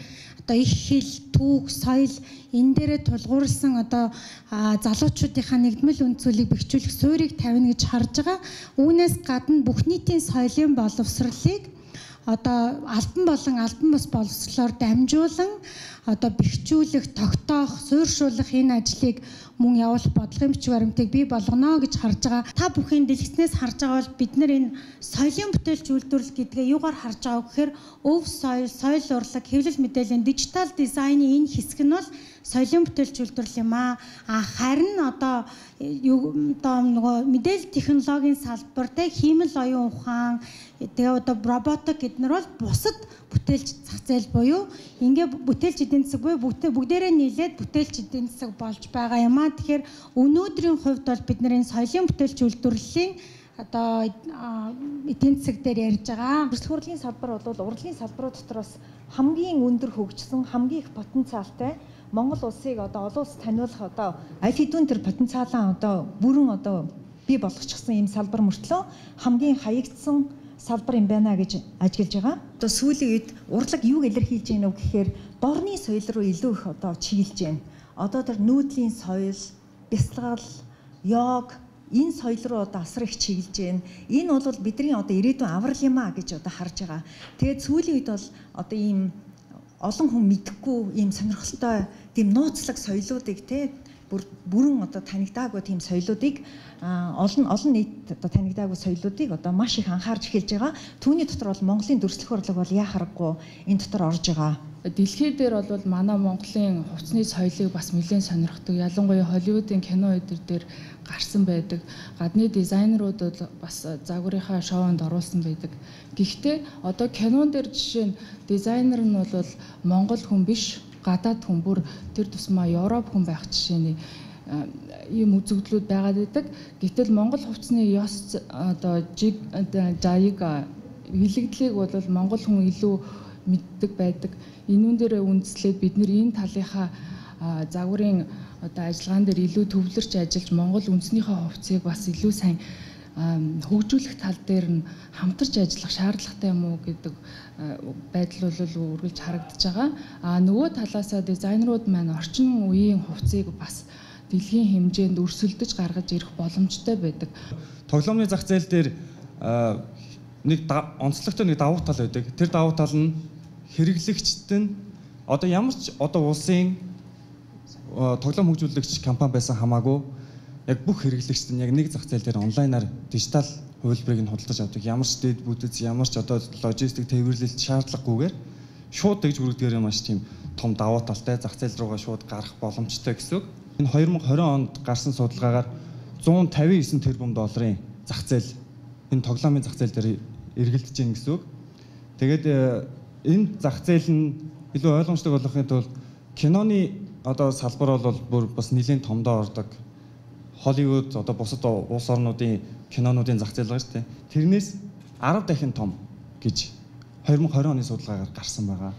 одоо их хэл, түүх, соёл энэ дээрээ тулгуурласан одоо залуучуудынхаа нэгдмэл үнд зүйлийг бэхжүүлэх суурийг тавина гэж харж байгаа. Үүнээс гадна бүх нийтийн соёлын боловсролыг одоо албан болон албан бус боловсролоор дамжуулан одоо бэхжүүлэх, тогтоох, суурьшуулах энэ ажлыг мөн явуулах бодлогын бичиг баримтыг бий болгоно гэж харж байгаа. Та бүхэн дэлгэцнээс харж байгаа бол бид нар энэ соёлын бүтээлч үйлдвэрлэл гэдгээ юугаар харж байгаа гэхээр өв соёл, соёл урлаг, хэвлэл мэдээллийн дижитал дизайны энэ хэсэг нь бол соёлын бүтээлч үйлдвэрлэл юм аа. Харин одоо нөгөө мэдээлэл технологийн салбар, хиймэл оюун ухаан, тэгээ одоо роботик гэднэр бол бусад бүтээлч зах зээл буюу ингээ бүтээлч эдийн засаг буюу бүгдээрээ нийлээд бүтээлч эдийн засаг болж байгаа юм аа. Тэгэхээр өнөөдрийн хувьд бол бид нарын соёлын бүтээлч үйлдвэрлэлийн одоо эдийн засаг дээр ярьж байгаа. Өрсөлдөх урлагийн салбар бол урлагийн салбарууд дотор бас хамгийн өндөр хөгжсөн, хамгийн их потенциалтай Монгол улсыг одоо олон улс таниулах одоо аль хэдийн тэр потенциалаа одоо бүрэн одоо бий болгочихсон ийм салбар мөртлөө хамгийн хаягдсан салбар юм байна гэж ажиглаж байгаа. Одоо сүүлийн үед урлаг юуг илэрхийлж байна вэ гэхээр дорны соёл руу илүү их одоо чиглэж байна. Одоо тэр нүүдлийн соёл, бясалгал, йог энэ соёл руу одоо асар их чиглэж байна. Энэ бол бидний одоо ирээдүйн аврал юм а гэж одоо харж байгаа. Тэгээд сүүлийн үед бол одоо ийм олон хүн мэдхгүй ийм сонирхолтой тийм нууцлаг соёлоодыг бүрэн одоо танигдаагүй тийм соёлоодыг олон нийт одоо танигдаагүй соёлоодыг одоо маш их анхаарч эхэлж байгаа. Түүний дотор бол Монголын дүрслэх урлаг бол яа харахгүй энэ дотор орж байгаа. Дэлхий дээр бол манай Монголын хувцсны соёлыг бас нэлээд сонирхдаг. Ялангуяа Холливуудын кино эдэр дээр гарсан байдаг. Гадны дизайнерууд бол бас загварынхаа шоунд оруулсан байдаг. Гэхдээ одоо кинон дээр жишээ нь дизайнер нь бол Монгол хүн биш, гадаад хүн, бүр тэр тусмаа Европ хүн байх жишээний ийм үзэгдлүүд байгаад байдаг. Гэтэл Монгол хувцсны ёс одоо жаиг хилэгдлийг бол Монгол хүн илүү мэддэг байдаг. Энүүн дээр үндэслээд бид нэр энэ талынхаа загварын одоо ажиллагаан дээр илүү төвлөрч ажиллаж Монгол үндэснийхээ хувцсыг бас илүү сайн хөгжүүлэх тал дээр нь хамтарч ажиллах шаардлагатай юм уу гэдэг байдал бол үргэлж харагдаж байгаа. Нөгөө талаасаа дизайнерууд маань орчин үеийн хувцсыг бас дэлхийн хэмжээнд өрсөлдөж гаргаж ирэх боломжтой байдаг. Тоглоомны зах зээл дээр нэг онцлогтой нэг давуу тал байдаг. Тэр давуу тал нь хэрэглэгчд нь одоо ямар ч одоо улсын тоглоом хөгжүүлэгч компани байсан хамаагүй яг бүх хэрэглэгчд нь яг нэг зах зээл дээр онлайнаар дижитал хувилбарыг нь худалдаж авдаг. Ямар ч дэд бүтэц, ямар ч одоо логистик тээвэрлэлт шаардлагагүйгээр шууд тэгж хүргэдгээр маш тийм том давуу талтай зах зээл руугаа шууд гарах боломжтой гэсэн үг. Энэ 2020 онд гарсан судалгаагаар 159 тэрбум долларын зах зээл энэ тоглоомын зах зээл дээр эргэлдэж байна гэсэн үг. Тэгээд энэ зах зээл нь илүү ойлгомжтой болгохын тулд киноны одоо салбар бол бүр бас нэлээд томдоо ордог. Холливуд одоо бусад улс орнуудын кинонуудын зах зээл байгаа шүү дээ. Тэрнээс 10 дахин том гэж 2020 оны судалгаагаар гарсан байгаа.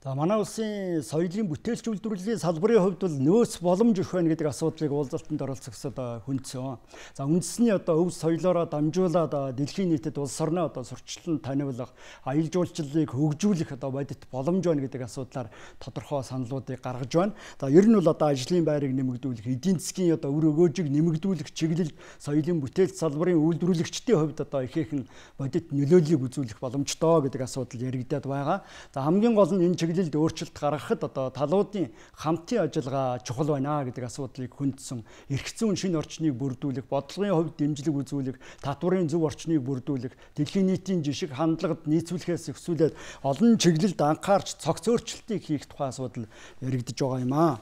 За манай улсын соёлын бүтээлч үйлдвэрлэлийн салбарын хувьд бол нөөц боломж өгөх байна гэдэг асуудлыг уулзалтанд оролцогсод хүндсэн. За үндэсний өв соёлоороо дамжуулаад дэлхийн нийтэд улс орноо сурчлан таниулах, аялал жуулчлалыг хөгжүүлэх бодит боломж байна гэдэг асуудлаар тодорхой саналуудыг гаргаж байна. За ер нь бол ажлын байрыг нэмэгдүүлэх, эдийн засгийн өр өгөөжийг нэмэгдүүлэх чиглэлд соёлын бүтээлч салбарын үйлдвэрлэгчдийн хувьд ихээхэн бодит нөлөөллийг үзүүлэх боломжтой гэдэг асуудал яригдаад байгаа. За хамгийн гол нь энэ чиглэлд өөрчлөлт гаргахад талуудын хамтын ажиллагаа чухал байна гэдэг асуудлыг хүндсэн. Эрх зүйн шинэ орчныг бүрдүүлэх, бодлогын хувьд дэмжлэг үзүүлэх, татварын зөв орчныг бүрдүүлэх, дэлхийн нийтийн жишг хандлагад нийцүүлэхээс эхлүүлээд олон чиглэлд анхаарч цогц өөрчлөлтийг хийх тухай асуудал яригдж байгаа юм аа.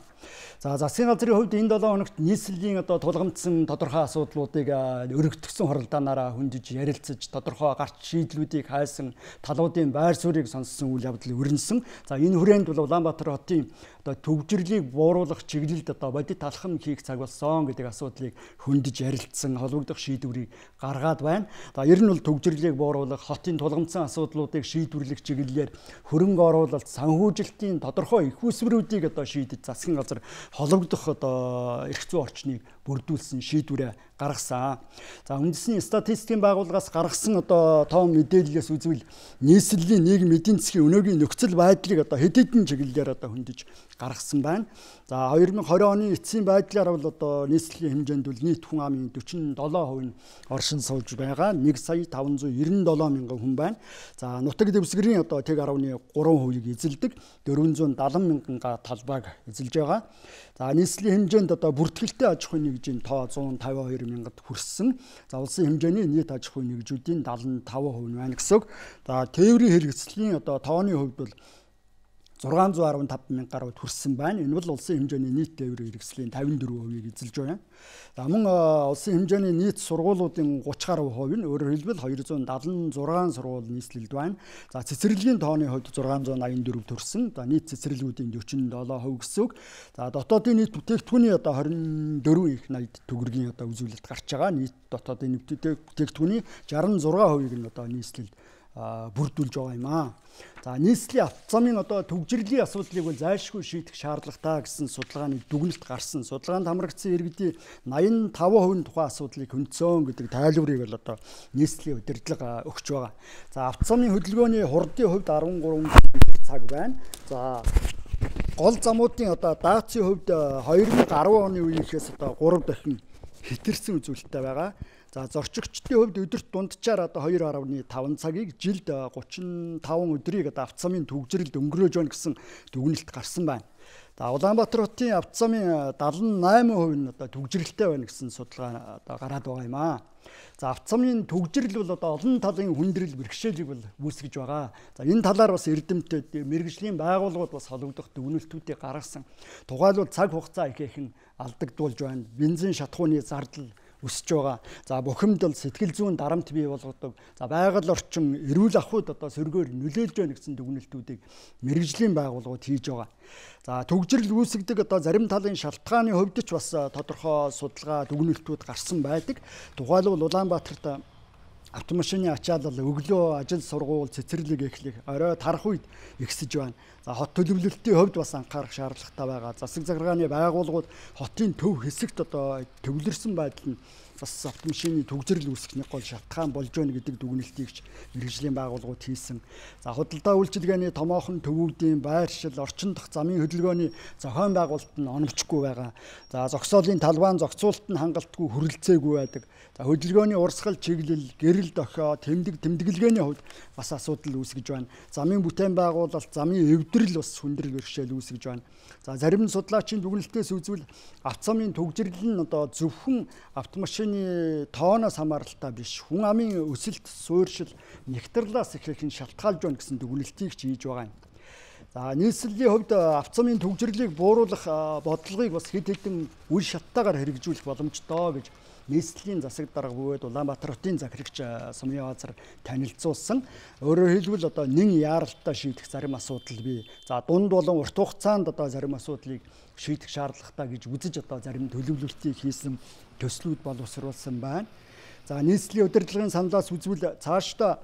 За засгийн газрын хувьд энэ 7 хоногт нийслэлийн тулгамдсан тодорхой асуудлуудыг өргөтгсөн хоролдоонаараа хөндөж ярилцаж тодорхой гарч шийдлүүдийг хайсан, талуудын байр суурийг сонссон үйл явдал өрнөсөн. За энэ хүрээнд бол Улаанбаатар хотын төвжирлийг бууруулах чиглэлд бодит алхам хийх цаг болсон гэдэг асуудлыг хөндөж ярилцсан, холбогдох шийдвэрийг гаргаад байна. За ер нь бол төвжирлийг бууруулах, хотын тулгамдсан асуудлуудыг шийдвэрлэх чиглэлээр хөрөнгө оруулалт, санхүүжилтийн тодорхой их усвруудыг шийдэж засгийн газар холбогдох эрх зүйн орчныг бүрдүүлсэн шийдвэрээ гаргасан. За үндэсний статистикийн байгууллагаас гаргасан тоон мэдээллээс үзвэл нийслэлийн нийгэм эдийн засгийн өнөөгийн нөхцөл байдлыг хэд хэдэн чиглэлээр хөндөж гаргасан байна. За 2020 оны эцсийн байдлаар бол нийслэлийн хэмжээнд бол нийт хүн амын 47% нь оршин сууж байгаа. 1,597,000 хүн байна. За нутаг дэвсгэрийн тэг 10.3%-ийг эзэлдэг. 470,000 талбайг эзэлж байгаа. За нийслэлийн хэмжээнд бүртгэлтэй аж ахуйн нэгжийн тоо 152,000-д хүрсэн. За улсын хэмжээний нийт аж ахуйн нэгжүүдийн 75% байна гэсэн үг. За тээврийн хэрэгслийн тооны хувьд бол 615,000 гаруйд хүрсэн байна. Энэ бол улсын хэмжээний нийт тээврийн хэрэгслийн 54%-ийг эзэлж байна. За мөн улсын хэмжээний нийт сургуулиудын 30 гаруй хувь нь өөрөөр хэлбэл 276 сургууль нийслэлд байна. За цэцэрлэгийн тооны хувьд 684 төрсэн. За нийт цэцэрлэгүүдийн 47% гэсэн үг. За дотоодын нийт бүтээгдэхүүний 24 их 80 төгрөгийн үзүүлэлт гарч байгаа. Нийт дотоодын бүтээгдэхүүний 66%-ийг нь нийслэлд бүрдүүлж байгаа юм аа. За нийслэлийн автозамын төвжирлийн асуудлыг бол зайлшгүй шийдэх шаардлагатай гэсэн судалгааны дүгнэлт гарсан. Судалгаанд хамрагдсан иргэдийн 85% тухайн асуудлыг хөндсөн гэдэг тайлбарыг бол нийслэлийн удирдлага өгч байгаа. За автозамын хөдөлгөөний хурдын хувьд 13 цаг байна. За гол замуудын даацын хувьд 2010 оны үеийнхээс 3 дахин хэтэрсэн үзүүлэлттэй байгаа. За зорчигчдын хувьд өдөрт дунджаар 2.5 цагийг жилд 35 өдрийг автозамын төвжирэлд өнгөрөөж байна гэсэн дүгнэлт гарсан байна. За Улаанбаатар хотын автозамын 78% нь төвжирэлтэй байна гэсэн судалгаа гараад байгаа юм аа. За автозамын төвжирэл бол олон талын хүндрэл бэрхшээлийг бол үүсгэж байгаа. За энэ талаар бас эрдэмтэд, мэргэжлийн байгууллагууд бас холбогдох дүгнэлтүүдийг гаргасан. Тухайлбал цаг хугацаа ихээхэн алдагдуулж байна. Бензин шатхууны зардал өсөж байгаа. За бухимдал, сэтгэл зүйн дарамт бий болгодог. За байгаль орчин, эрүүл ахуйд сөргөөр нөлөөлж байна гэсэн дүгнэлтүүдийг мэргэжлийн байгууллагууд хийж байгаа. За төгжрөл үүсгдэг зарим талын шалтгааны хувьд ч бас тодорхой судалгаа дүгнэлтүүд гарсан байдаг. Тухайлбал Улаанбаатарт автомашины ачаалал, өглөө ажил сургууль, цэцэрлэг эхлэх, орой тарах үед ихсэж байна. За хот төлөвлөлтийн хувьд бас анхаарах шаардлагатай байгаа. Засаг захиргааны байгууллагууд хотын төв хэсэгт төвлөрсөн байдал нь бас автомашины төгжрөл үүсгэхний гол шалтгаан болж байна гэдэг дүгнэлтийг мэргэжлийн байгууллагууд хийсэн. За худалдаа үйлчилгээний томоохон төвүүдийн байршил, орчин дахь замын хөдөлгөөний зохион байгуулалт нь оновчгүй байгаа. За зогсоолын талбайн зохицуулалт нь хангалтгүй хүрэлцээгүй байдаг. За хөдөлгөөний урсгал чиглэл, гэрэл дохио, тэмдэглэгээний хувьд бас асуудал үүсгэж байна. Замын бүтээн байгуулалт, замын эвдрэл бас хүндрэл бэрхшээл үүсгэж байна. За зарим судлаачийн дүгнэлтээс үзвэл автозамын төгжрөл нь зөвхөн автомашины тооноос хамааралтай биш, хүн амын өсөлт, суурьшил, нэгтралаас ихээхэн шалтгаалж байна гэсэн дүгнэлтийг хийж байгаа юм. За нийслэлийн хувьд автозамын төгжрлийг бууруулах бодлогыг бас хэд хэдэн үе шаттайгаар хэрэгжүүлэх боломжтой гэж нийслэлийн засаг дарга бөгөөд Улаанбаатар хотын захирагч Сумын Баазар танилцуулсан. Өөрөөр хэлбэл нэн яаралтай шийдэх зарим асуудал бий. За дунд болон урт хугацаанд зарим асуудлыг шийдэх шаардлагатай гэж үзэж зарим төлөвлөлтийг хийсэн төслүүд боловсруулсан байна. За нийслэлийн удирдлагын саналаас үзвэл цаашдаа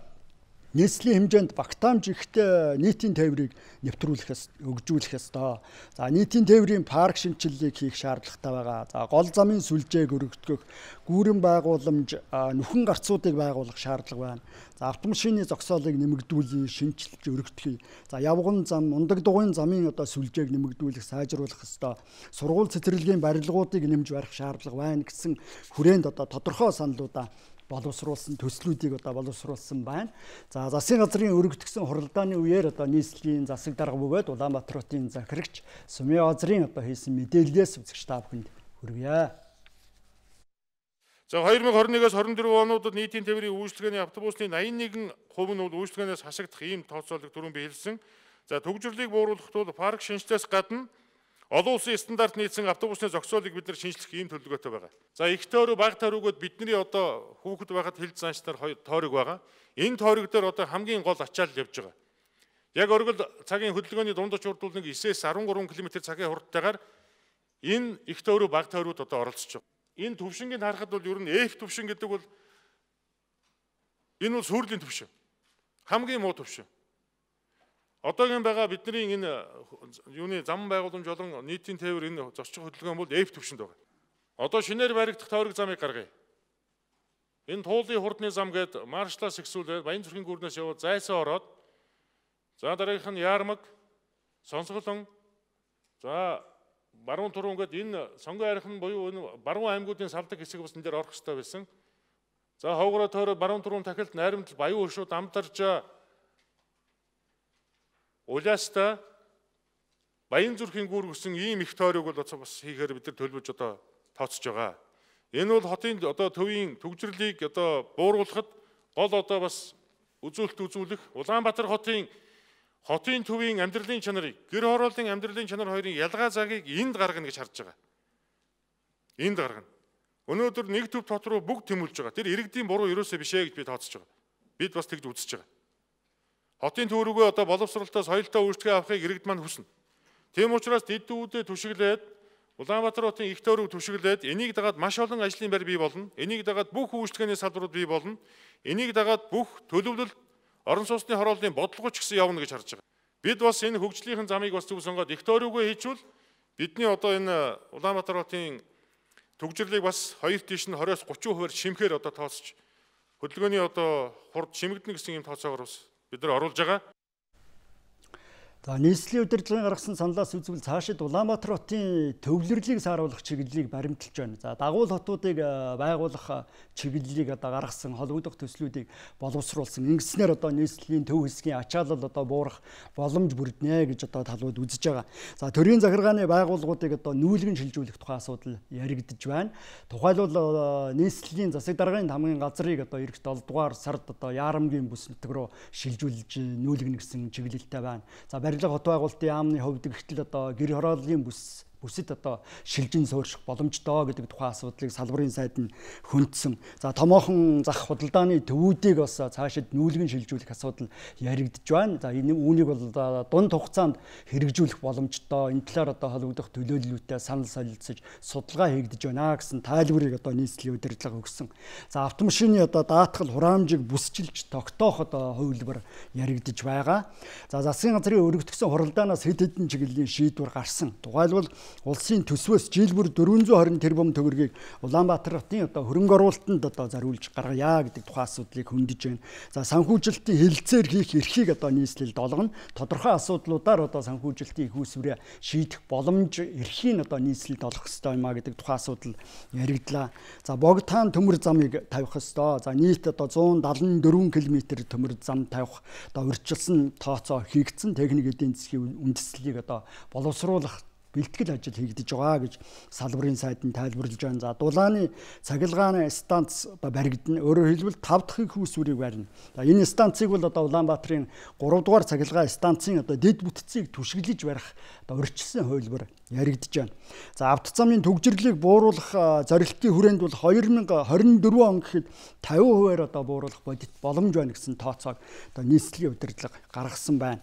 нийслэлийн хэмжээнд багтаамж ихтэй нийтийн тээврийг нэвтрүүлэх өгжүүлэх ёстой. За нийтийн тээврийн парк шинчиллийг хийх шаардлагатай байгаа. За гол замын сүлжээг өргөдгөх, гүүрэн байгууламж, нүхэн гарцуудыг байгуулах шаардлага байна. За автомашины зогсоолыг нэмэгдүүлэх, шинжилж өргөдгөх. За явган зам, ундаг дугуйн замын сүлжээг нэмэгдүүлэх, сайжруулах ёстой. Сургууль цэцэрлэгийн барилгуудыг нэмж барих шаардлага байна гэсэн хүрээнд тодорхой саналуудаа боловсруулсан төслүүдийг боловсруулсан байна. За засгийн газрын өргөдгсөн хуралдааны үеэр нийслэлийн засаг дарга бөгөөд Улаанбаатар хотын захирагч Сумын Озрын хийсэн мэдээллээс үзэгч та бүхэнд хүргье. За 2021-с 24 онуудад нийтийн тээврийн үйлчлэгээний автобусны 81% нь үйлчлэгээнээс хасагдах ийм тооцоолыг түрүүн би хэлсэн. За төгжрлийг бууруулахад бол парк шинжилээс гадна олон улсын стандарт нийцсэн автобусны зогсоолыг бид нар шинжлэх ийм төлөвлөгөөтэй байгаа. За их тойрог, бага тойрогод бидний хүүхэд байхад хил занчтар тойрог байгаа. Энэ тойрог дээр хамгийн гол ачаал явж байгаа. Яг оргил цагийн хөдөлгөөний дундаж урд бол 9-13 км цагийн хурдтайгаар энэ их тойрог, бага тойрогуд оролцож байгаа. Энэ төвшингийг харахад бол ер нь F төвшин гэдэг бол энэ бол сүрлийн төвшин. Хамгийн муу төвшин. Одоогийн байгаа бидний энэ юуны зам байгууламж болон нийтийн тээвэр энэ зорчих хөдөлгөөн бол F төвшөнд байгаа. Одоо шинээр баригдах тойрог замыг гаргая. Энэ туулын хурдны зам гээд маршлаас ихсүүлээд Баянзүрхийн гүрнээс яваад зайсаа ороод за дараагийнх нь Яармаг, Сонсголон, за Баруун Турун гээд энэ сонгон архин буюу энэ баруун аймагуудын салдаг хэсэг бас энэ дээр орох хэрэгтэй байсан. За Ховгороо тойроод Баруун Турун тахилд Найрамдал, Баян Хөшүүд, Амдарж, Улаастаа, Баянзүрхийн гүүр гэсэн ийм их тойрог бол бас хийхээр бид нар төлөвлөж тооцож байгаа. Энэ бол хотын төвийн төгжрлийг бууруулахад гол бас үзүүлэлт үзүүлэх Улаанбаатар хотын төвийн амьдралын чанарыг, гэр хорооллын амьдралын чанар хоёрын ялгаа цагийг энд гаргана гэж харж байгаа. Энд гаргана. Өнөөдөр нэг төв тот руу бүгд тэмүүлж байгаа. Тэр иргэдийн буруу ерөөсөө биш ээ гэж би тооцож байгаа. Бид бас тэгж үзэж байгаа. Хотын төв рүүгээ боловсролтой соёлтой үйлчлэгээ авахыг иргэд маань хүснэ. Тийм учраас дэд дүүдэд түшиглээд Улаанбаатар хотын их тойрог түшиглээд энийг дагаад маш олон ажлын байр бий болно. Энийг дагаад бүх үйлчлэгээний салбарууд бий болно. Энийг дагаад бүх төлөвлөлт орон сууцны хорооллын бодлогоч гэсэн явна гэж харж байгаа. Бид бас энэ хөгжлийн замыг бас зөв сонгоод их тойрогоо хийчвэл бидний энэ Улаанбаатар хотын төгжрлийг бас 2 тийш нь 20-30% шимхээр тооцож хөдөлгөөний хурд шимэгдэнэ гэсэн ийм тооцоогоор бас бид нар оруулж байгаа. За нийслэлийн удирдлагын гаргасан саналаас үзвэл цаашид Улаанбаатар хотын төвлөрлийг сааруулах чиглэлийг баримталж байна. За дагуул хотуудыг байгуулах чиглэлийг гаргасан холбогдох төслүүдийг боловсруулсан. Ингэснээр нийслэлийн төв хэсгийн ачаалал буурах боломж бүрднэ гэж талууд үзэж байгаа. За төрийн захиргааны байгууллагуудыг нүүлгэн шилжүүлэх тухай асуудал яригдж байна. Тухайлбал нийслэлийн засаг даргын хамгийн газрыг эх 7 дугаар сард Яарамгийн бүс нутаг руу шилжүүлж нүүлгэн гэсэн чиглэлтэй байна. За барилга хот байгуулалтын яамны хувьд гэтэл гэр хорооллын бүсэд шилжин суурших боломжтой гэдэг тухайн асуудлыг салбарын сайд нь хөндсөн. За томоохон зах худалдааны төвүүдийг бас цаашид нүүлгэн шилжүүлэх асуудал яригдж байна. За энэ үүнийг бол дунд хугацаанд хэрэгжүүлэх боломжтой. Энэ талаар холбогдох төлөөллөтэй санал солилцож судалгаа хийгдэж байна гэсэн тайлбарыг нийслэлийн удирдлага өгсөн. За автомашины даатгал хураамжийг бүсчилж тогтоох хувилбар яригдж байгаа. За засгийн газрын өргөдгсөн хуралдаанаас хэд хэдэн чиглэлийн шийдвэр гарсан. Тухайлбал улсын төсвөөс жил бүр 420 тэрбум төгрөгийг Улаанбаатар хотын хөрөнгө оруулалтанд зориулж гаргая гэдэг тухайн асуудлыг хөндөж байна. За санхүүжилтийн хэлэлцээр хийх эрхийг нийслэл долгоно. Тодорхой асуудлуудаар санхүүжилтийн их үүсвэрээ шийдэх боломж эрхийг нийслэлд олох ёстой юм а гэдэг тухайн асуудал яригдлаа. За богдхан төмөр замыг тавих ёстой. За нийт 174 км төмөр зам тавих урьдчилсан тооцоо хийгдсэн. Техник эдийн засгийн үндэслэлийг боловсруулах бэлтгэл ажил хийгдэж байгаа гэж салбарын сайд нь тайлбарлаж байна. За дулааны цахилгааны станц баригдана. Өөрөөр хэлбэл 5 дахь их үүсвэрийг барина. За энэ станцыг бол Улаанбаатарын 3 дугаар цахилгаан станцын дэд бүтцийг түшиглэж барих урьдчилсан хувилбар яригдж байна. За авто замын төгжрлийг бууруулах зорилтын хүрээнд бол 2024 он гэхэд 50%-аар бууруулах бодит боломж байна гэсэн тооцоог нийслэлийн удирдлага гаргасан байна.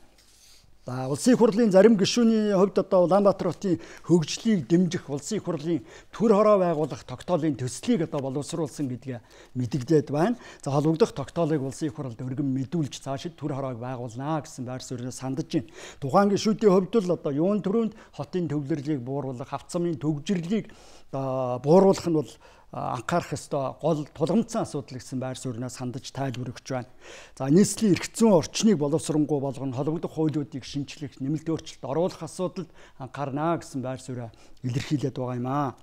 За улсын их хурлын зарим гишүүний хувьд одоо Улаанбаатар хотын хөгжлийг дэмжих улсын их хурлын төр хороо байгуулах тогтоолын төслийг одоо боловсруулсан гэдгээ мэдэгдээд байна. За холбогдох тогтоолыг улсын их хуралд өргөн мэдүүлж цаашид төр хороог байгуулнаа гэсэн байр суурьнаас сандаж байна. Тухайн гишүүдийн хувьд л одоо юун төрөнд хотын төвлөрлийг бууруулах, авто замын төвжирлийг бууруулах нь бол анхаарах ёстой гол тулгамдсан асуудал гэсэн байр суурьнаас хандаж тайлбар өгч байна. За нийслэлийн эрх зүйн орчныг боловсронгуй болгоно, холбогдох хуулиудыг шинчлэх, нэмэлт өөрчлөлт оруулах асуудалд анхаарна гэсэн байр суурь илэрхийлээд байгаа юм аа.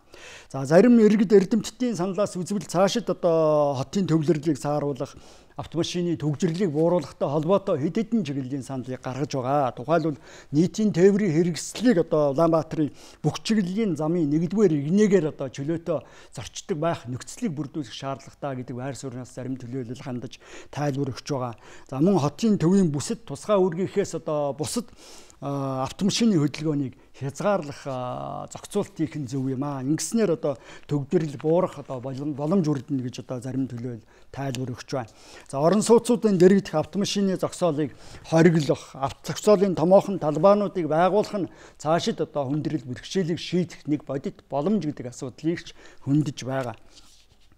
За зарим иргэд эрдэмтдийн саналаас үзвэл цаашид одоо хотын төвлөрлийг сааруулах, автомашины төвжирлийг бууруулахтай холбоотой хэд хэдэн чиглэлийн саналыг гаргаж байгаа. Тухайлбал нийтийн тээврийн хэрэгслийг одоо Улаанбаатарын бүх чиглэлийн замын 1-р игнэгээр одоо чөлөөтэй зорчдог байх нөхцөлийг бүрдүүлэх шаардлагатай гэдэг байр суурьнаас зарим төлөөлөл хандаж тайлбар өгч байгаа. За мөн хотын төвийн бүсэд тусгай үүргийнхээс одоо бусад автомашины хөдөлгөөнийг хязгаарлах зохицуулт хийх нь зөв юм аа. Ингэснээр одоо төвдрөл буурах одоо боломж үрдэнэ гэж одоо зарим төлөөлөл тайлбар өгч байна. За орон сууцуудын дэргэдэх автомашины зогсоолыг хориглох, зогсоолын томоохон талбайнуудыг байгуулах нь цаашид одоо хүндрэл бэрхшээлийг шийдэх нэг бодит боломж гэдэг асуудлыг ч хөндөж байгаа.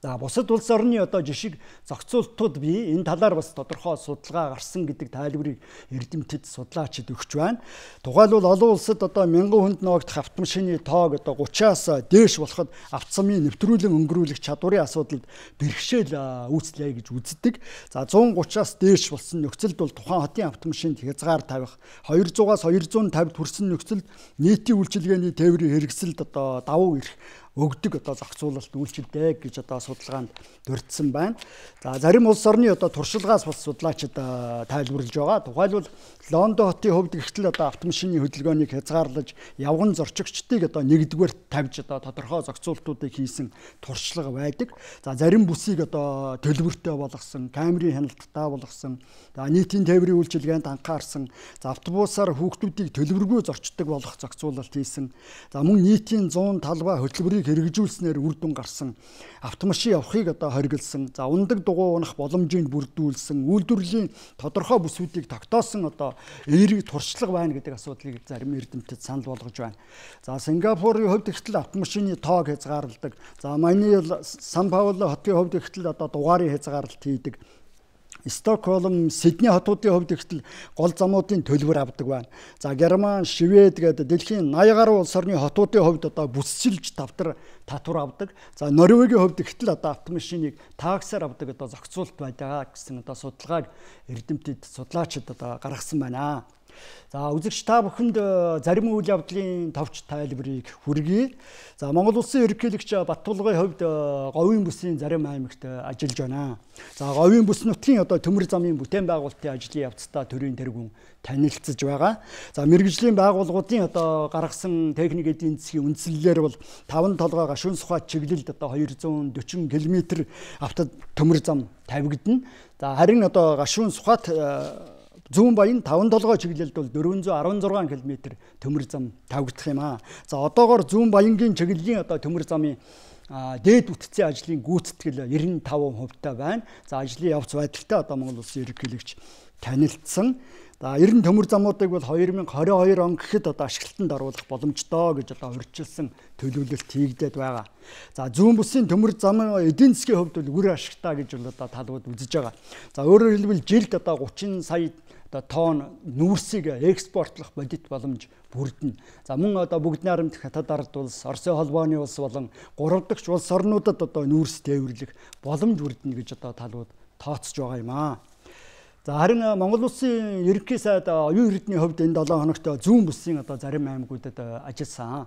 За бусад улс орны одоо жишг зохицуултууд бий энэ талаар бас тодорхой судалгаа гарсан гэдэг тайлбарыг эрдэмтэд судлаачид өгч байна. Тухайлбал олон улсад одоо 1000 хүнд ногдох автомашины тоог одоо 30-аас дээш болоход автосамын нэвтрүүлэн өнгөрүүлэх чадварын асуудалд бэрхшээл үүслэе гэж үздэг. За 130-аас дээш болсон нөхцөлд бол тухайн хотын автомашинд хязгаар тавих, 200-аас 250-д хүрсэн нөхцөлд нийтийн үйлчилгээний тээврийн хэрэгсэлд одоо давуу эрх өгдөг одоо зохицуулалт үйлчилдэг гэж одоо судалгаанд дурдсан байна. За зарим улс орны одоо туршлагаас бас судлаачид тайлбарлаж байгаа. Тухайлбал Лондон хотын хувьд гэтэл одоо автомашины хөдөлгөөнийг хязгаарлаж явган зорчигчдыг одоо 1-р тавьж одоо тодорхой зохицуултуудыг хийсэн туршлага байдаг. За зарим бүсийг одоо төлбөртэй болгосон, камерын хяналттай болгосон, за нийтийн тээврийн үйлчилгээнд анхаарсан, за автобусаар хүүхдүүдийг төлбөргүй зорчдог болгох зохицуулалт хийсэн. За мөн нийтийн 100 талбай хөтөлбөрийг хэрэгжүүлснээр үр дүн гарсан, автомашин явахыг одоо хориглосон, за ундаг дугуй унах боломжийг бүрдүүлсэн, үйлдвэрлэлийн тодорхой бүсүүдийг тогтоосон одоо эерэг туршлага байна гэдэг асуудлыг зарим эрдэмтэд санал болгож байна. За Сингапурын хувьд гэтэл автомашины тоог хязгаарладаг. За Манай Сан Пауло хотын хувьд гэтэл одоо дугаарын хязгаарлалт хийдэг. Стокгольм, Сидней хотуудын хувьд гэтэл гол замуудын төлбөр авдаг байна. За Герман, Швед гэдэг дэлхийн 80 гаруй улс орны хотуудын хувьд одоо бүсчилж татвар авдаг. За Норвегийн хувьд гэтэл одоо автомашиныг таксаар авдаг одоо зохицуулт байдаг гэсэн одоо судалгааг эрдэмтэд судлаачид одоо гаргасан байна. За үзэгч та бүхэнд зарим үйл явдлын товч тайлбарыг хүргэе. За Монгол Улсын ерөнхийлөгч Баттулгын хувьд говийн бүсийн зарим аймагт ажиллаж байна. За говийн бүс нутгийн одоо төмөр замын бүтээн байгуулалтын ажлын явцдаа төрийн тэргүүн танилцж байгаа. За мэргэжлийн байгууллагуудын одоо гаргасан техник эдийн засгийн үндслэлээр бол 5 толгой гашуун сухат чиглэлд одоо 240 км авто төмөр зам тавигдана. За харин одоо гашуун сухат Зүүн баян 5 толгой чиглэлд бол 416 км төмөр зам тавигдах юм аа. За одоогоор Зүүн баянгийн чиглэлийн одоо төмөр замын дээд үтцийн ажлын гүйцэтгэл 95% байна. За ажлын явц байдалтай одоо Монгол Улсын ерөнхийлөгч танилцсан. За 90 төмөр замуудыг бол 2022 он гэхэд одоо ашиглалтанд оруулах боломжтой гэж одоо урьдчилсан төлөвлөлт хийгдээд байгаа. За зүүн бүсийн төмөр зам эдийн засгийн хувьд бол үр ашигтай гэж бол одоо талбад үзэж байгаа. За өөрөөр хэлбэл жилд одоо 30 сая тонн нүүрсийг экспортлох бодит боломж бүрдэнэ. За мөн одоо бүгд найрамдах хятад ард улс, Оросын холбооны улс болон 3 дахь улс орнуудад одоо нүүрс тээвэрлэх боломж бүрдэнэ гэж одоо талбад тооцож байгаа юм аа. За харин Монгол Улсын ерөнхий сайд оюун эрдэнийн хувьд энэ 7 хоногт зүүн бүсийн одоо зарим аймагуудад ажилласан.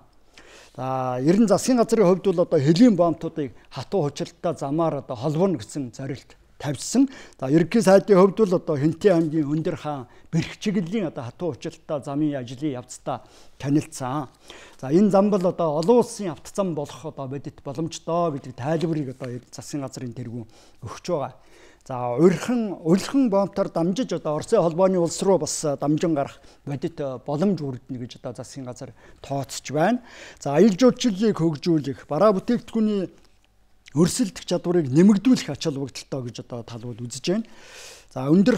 За ерөн засгийн газрын хувьд бол одоо хөлийн бомтуудыг хатуу хучиртай замаар одоо холбоно гэсэн зорилт тавьсан. За ерөнхий сайдын хувьд бол одоо Хэнтэй аймгийн Өндөр хаан бэрх чиглэлийн одоо хатуу хучиртай замын ажлын явцдаа танилцсан. За энэ зам бол одоо олон улсын автозам болох одоо бодит боломжтой гэдэг тайлбарыг одоо засгийн газрын тэргүүн өгч байгаа. За урьдхан бомтоор дамжиж одоо Оросын холбооны улс руу бас дамжин гарах бодит боломж бүрдэнэ гэж одоо засгийн газар тооцож байна. За аялал жуулчлалыг хөгжүүлэх, бараа бүтээгдэхүүний өрсөлдөх чадварыг нэмэгдүүлэх ач холбогдолтой гэж одоо талбад үзэж байна. За өндөр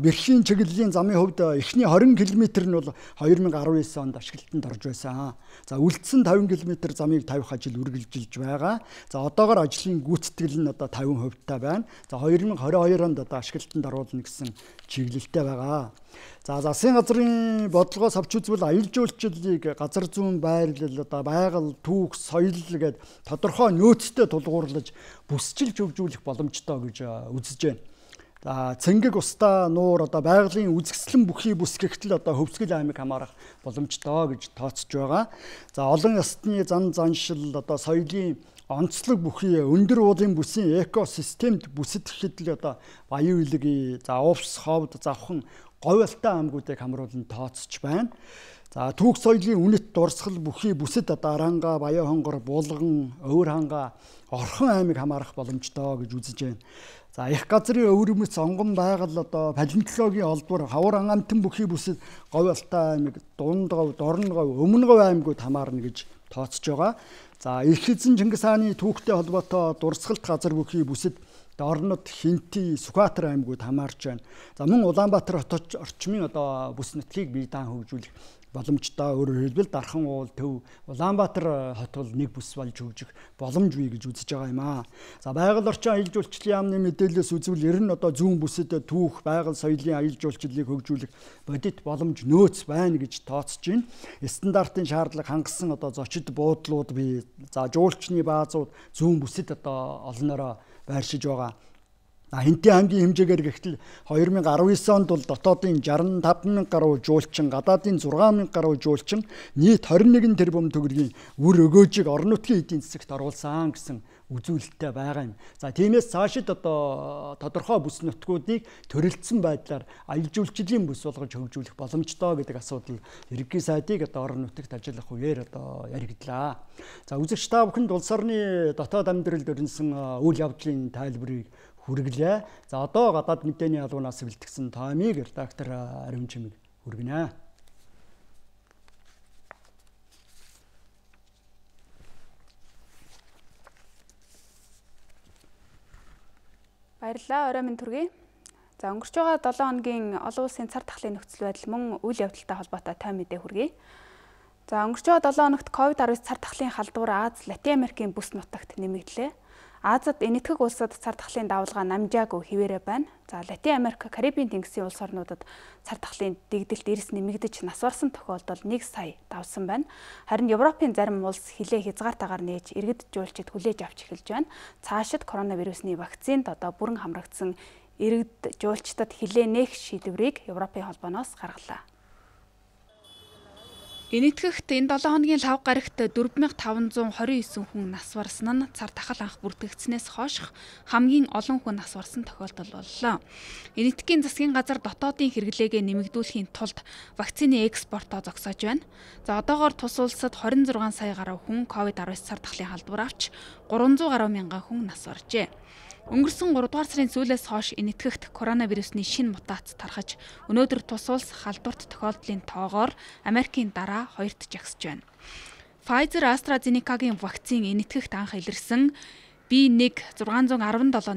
бэрхийн чиглэлийн замын хувьд эхний 20 км нь бол 2019 онд ашиглалтанд орж байсан. За үлдсэн 50 км замыг тавих ажил үргэлжилж байгаа. За одоогоор ажлын гүйцэтгэл нь одоо 50% та байна. За 2022 онд одоо ашиглалтанд оруулна гэсэн чиглэлтэй байгаа. За засгийн газрын бодлогоос авч үзвэл аялал жуулчлалыг газар зүйн байрлал, одоо байгаль, түүх, соёл гээд тодорхой нөөцтэй тулгуурлаж бүсчилж хөгжүүлэх боломжтой гэж үзэж байна. За цэнгэг устаа нуур одоо байгалийн үзэсгэлэн бүхий бүс гэгтэл одоо Хөвсгөл аймаг хамаарах боломжтой гэж тооцож байгаа. За олон ястны зан заншил одоо соёлын онцлог бүхий өндөр уулын бүсийн экосистемд бүсэтгэхэд л одоо Баян Илэг, за Увс, Ховд, Завхан, Говьалтай аймагуудыг хамруулан тооцож байна. За түүх соёлын үнэт дурсгал бүхий бүсэд одоо Аранга, Баян хонгор, Булган, Өвөр ханга, Орхон аймаг хамаарах боломжтой гэж үзэж байна. За их газрын өвөрмөц онгон байгаль одоо палеонтологийн олбор хавар амтан бүхий бүсэд Говьалтай аймаг, Дунд говь, Дорн говь, Өмнө говь аймагуд хамаарна гэж тооцож байгаа. За их эзэн Чингис хааны түүхтэй холбоотой дурсгалт газар бүхий бүсэд Орнод, Хинти, Сүхбаатар аймагуд хамаарч байна. За мөн Улаанбаатар хот орчмын одоо бүс нутгийг бие даан хөгжүүлэх боломжтой. Өөрөөр хэлбэл Дархан уул, Төв, Улаанбаатар хот бол нэг бүс болж хөгжих боломж бий гэж үзэж байгаа юм аа. За байгаль орчин аялал жуулчлалын яамны мэдээлэлээс үзвэл ер нь одоо зүүн бүсэд түүх, байгаль соёлын аялал жуулчлалыг хөгжүүлэх бодит боломж нөөц байна гэж тооцож байна. Стандартын шаардлага хангасан одоо зочид буудлууд бий. За жуулчны баазууд зүүн бүсэд одоо олноороо байршиж байгаа. Хинти аймгийн хэмжээгээр гэхтэл 2019 онд бол дотоодын 65,000 гаруй жуулчин, гадаадын 6,000 гаруй жуулчин нийт 21 тэрбум төгрөгийн үр өгөөжийг орон нутгийн эдийн засагт оруулсан гэсэн үзүүлэлттэй байгаа юм. За тиймээс цаашид одоо тодорхой бүс нутгуудыг төрөлдсөн байдлаар аялал жуулчлалын бүс болгож хөгжүүлэх боломжтой гэдэг асуудал ерөнхий сайдыг одоо орон нутагт ажиллах үеэр одоо яригдлаа. За үзэгч та бүхэнд улс орны дотоод амьдралд өрнсөн үйл явдлын тайлбарыг хүргэлээ. За одоо гадаад мэдээний албанаас бэлтгэсэн таймыг редактор Ариун Чимэг хүргэнэ. Баярлалаа, орой минь түргэе. За өнгөрч байгаа 7 хоногийн олон улсын цар тахлын нөхцөл байдал мөн үйл явдалтай холбоотой тань мэдээ хүргэе. За өнгөрч байгаа 7 хоногт COVID-19 цар тахлын халдвар Аз, Латин Америкийн бүс нутагт нэмэгдлээ. Азад энэтхэг улсад цар тахлын давалгаа намжаагүй хിവэрэ байна. За Латин Америк, Карибын тэнгисийн улс орнуудад цар тахлын дэгдэлт эрс нэмэгдэж нас барсан тохиолдол 1 сая давсан байна. Харин Европын зарим улс хилээ хязгаартаагаар нээж иргэд жуулчид хүлээж авч эхэлж байна. Цаашид коронавирусны вакцинд одоо бүрэн хамрагдсан иргэд жуулчдад хилээ нээх шийдвэрийг Европын холбооноос гаргалаа. Энэтхэгт энэ 7 хоногийн лав гарагт 4529 хүн нас барсан нь цар тахал анх бүртгэгдснээс хойш хамгийн олон хүн нас барсан тохиолдол боллоо. Энэтхэгийн засгийн газар дотоодын хэрэглээгээ нэмэгдүүлэхийн тулд вакцины экспортоо зогсоож байна. За одоогоор тус улсад 26 сая гаруй хүн COVID-19 цар тахлын халдвар авч 300 гаруй мянган хүн нас баржээ. Өнгөрсөн 3 дугаар сарын сүүлээс хойш энэтхэгт коронавирусны шинэ мутац тархаж өнөөдөр тус улс халдварт тохиолдлын тоогоор Америкийн дараа хоёрт жагсаж байна. Pfizer AstraZeneca-гийн вакцин энэтхэгт анх илэрсэн B1.617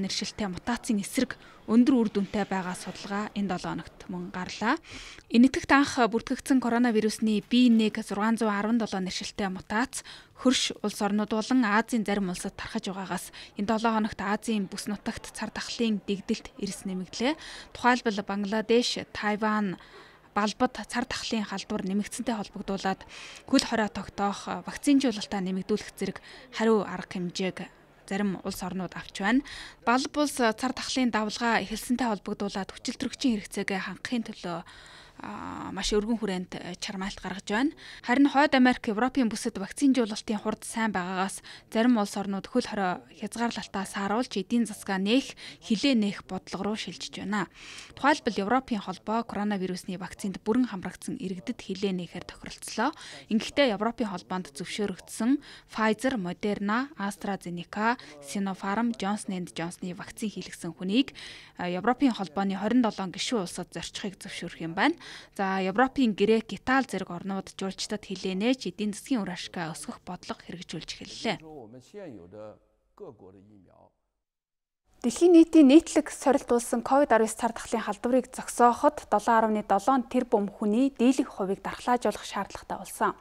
нэршилтэй мутацийн эсрэг өндөр үр дүнтэй байгаа судалгаа энэ 7 хоногт мөн гарлаа. Энэтхэгт анх бүртгэгдсэн коронавирусны B1.617 нэршилтэй мутац хөрш улс орнууд болон Азийн зарим улсад тархаж байгаагаас энэ 7 хоногт Азийн бүс нутагт цар тахлын дэгдэлт эрс нэмэгдлээ. Тухайлбал Бангладеш, Тайван, Балбад цар тахлын халдвар нэмэгдсэнтэй холбогдуулаад хөл хорой тогтоох, вакцинжуулалтаа нэмэгдүүлэх зэрэг хариу арга хэмжээг зарим улс орнууд авч байна. Балб улс цар тахлын давлгаа эхэлсэнтэй холбогдуулаад хүчил төрөгчийн хэрэгцээгээ хангахын төлөө маш өргөн хүрээнд чармаалт гаргаж байна. Харин Хойд Америк, Европын бүсэд вакцинжуулалтын хурд сайн байгаагаас зарим улс орнууд хөл хорой хязгаарлалтаа сааруулж эдийн засгаа нээх, хилээ нээх бодлого руу шилжиж байна. Тухайлбал Европын холбоо коронавирусны вакцинд бүрэн хамрагдсан иргэдэд хилээ нээхээр тохиролцлоо. Ингэхдээ Европын холбоонд зөвшөөрөгдсөн Pfizer, Moderna, AstraZeneca, Sinopharm, Johnson & Johnson-ы вакцин хийлгсэн хүнийг Европын холбооны 27 гишүүн улсад зорчихыг зөвшөөрөх юм байна. За Европын Грек, Итали зэрэг орнууд жуулчдад хилээ нээж эдийн засгийн үр ашгаа өсгөх бодлого хэрэгжүүлж эхэллээ. Дэлхийн нийтийн нийтлэг сорилтуулсан COVID-19 цар тахлын халдварыг зогсооход 7.7 тэрбум хүний дийлэнх хувийг дархлаажуулах шаардлагатай болсон.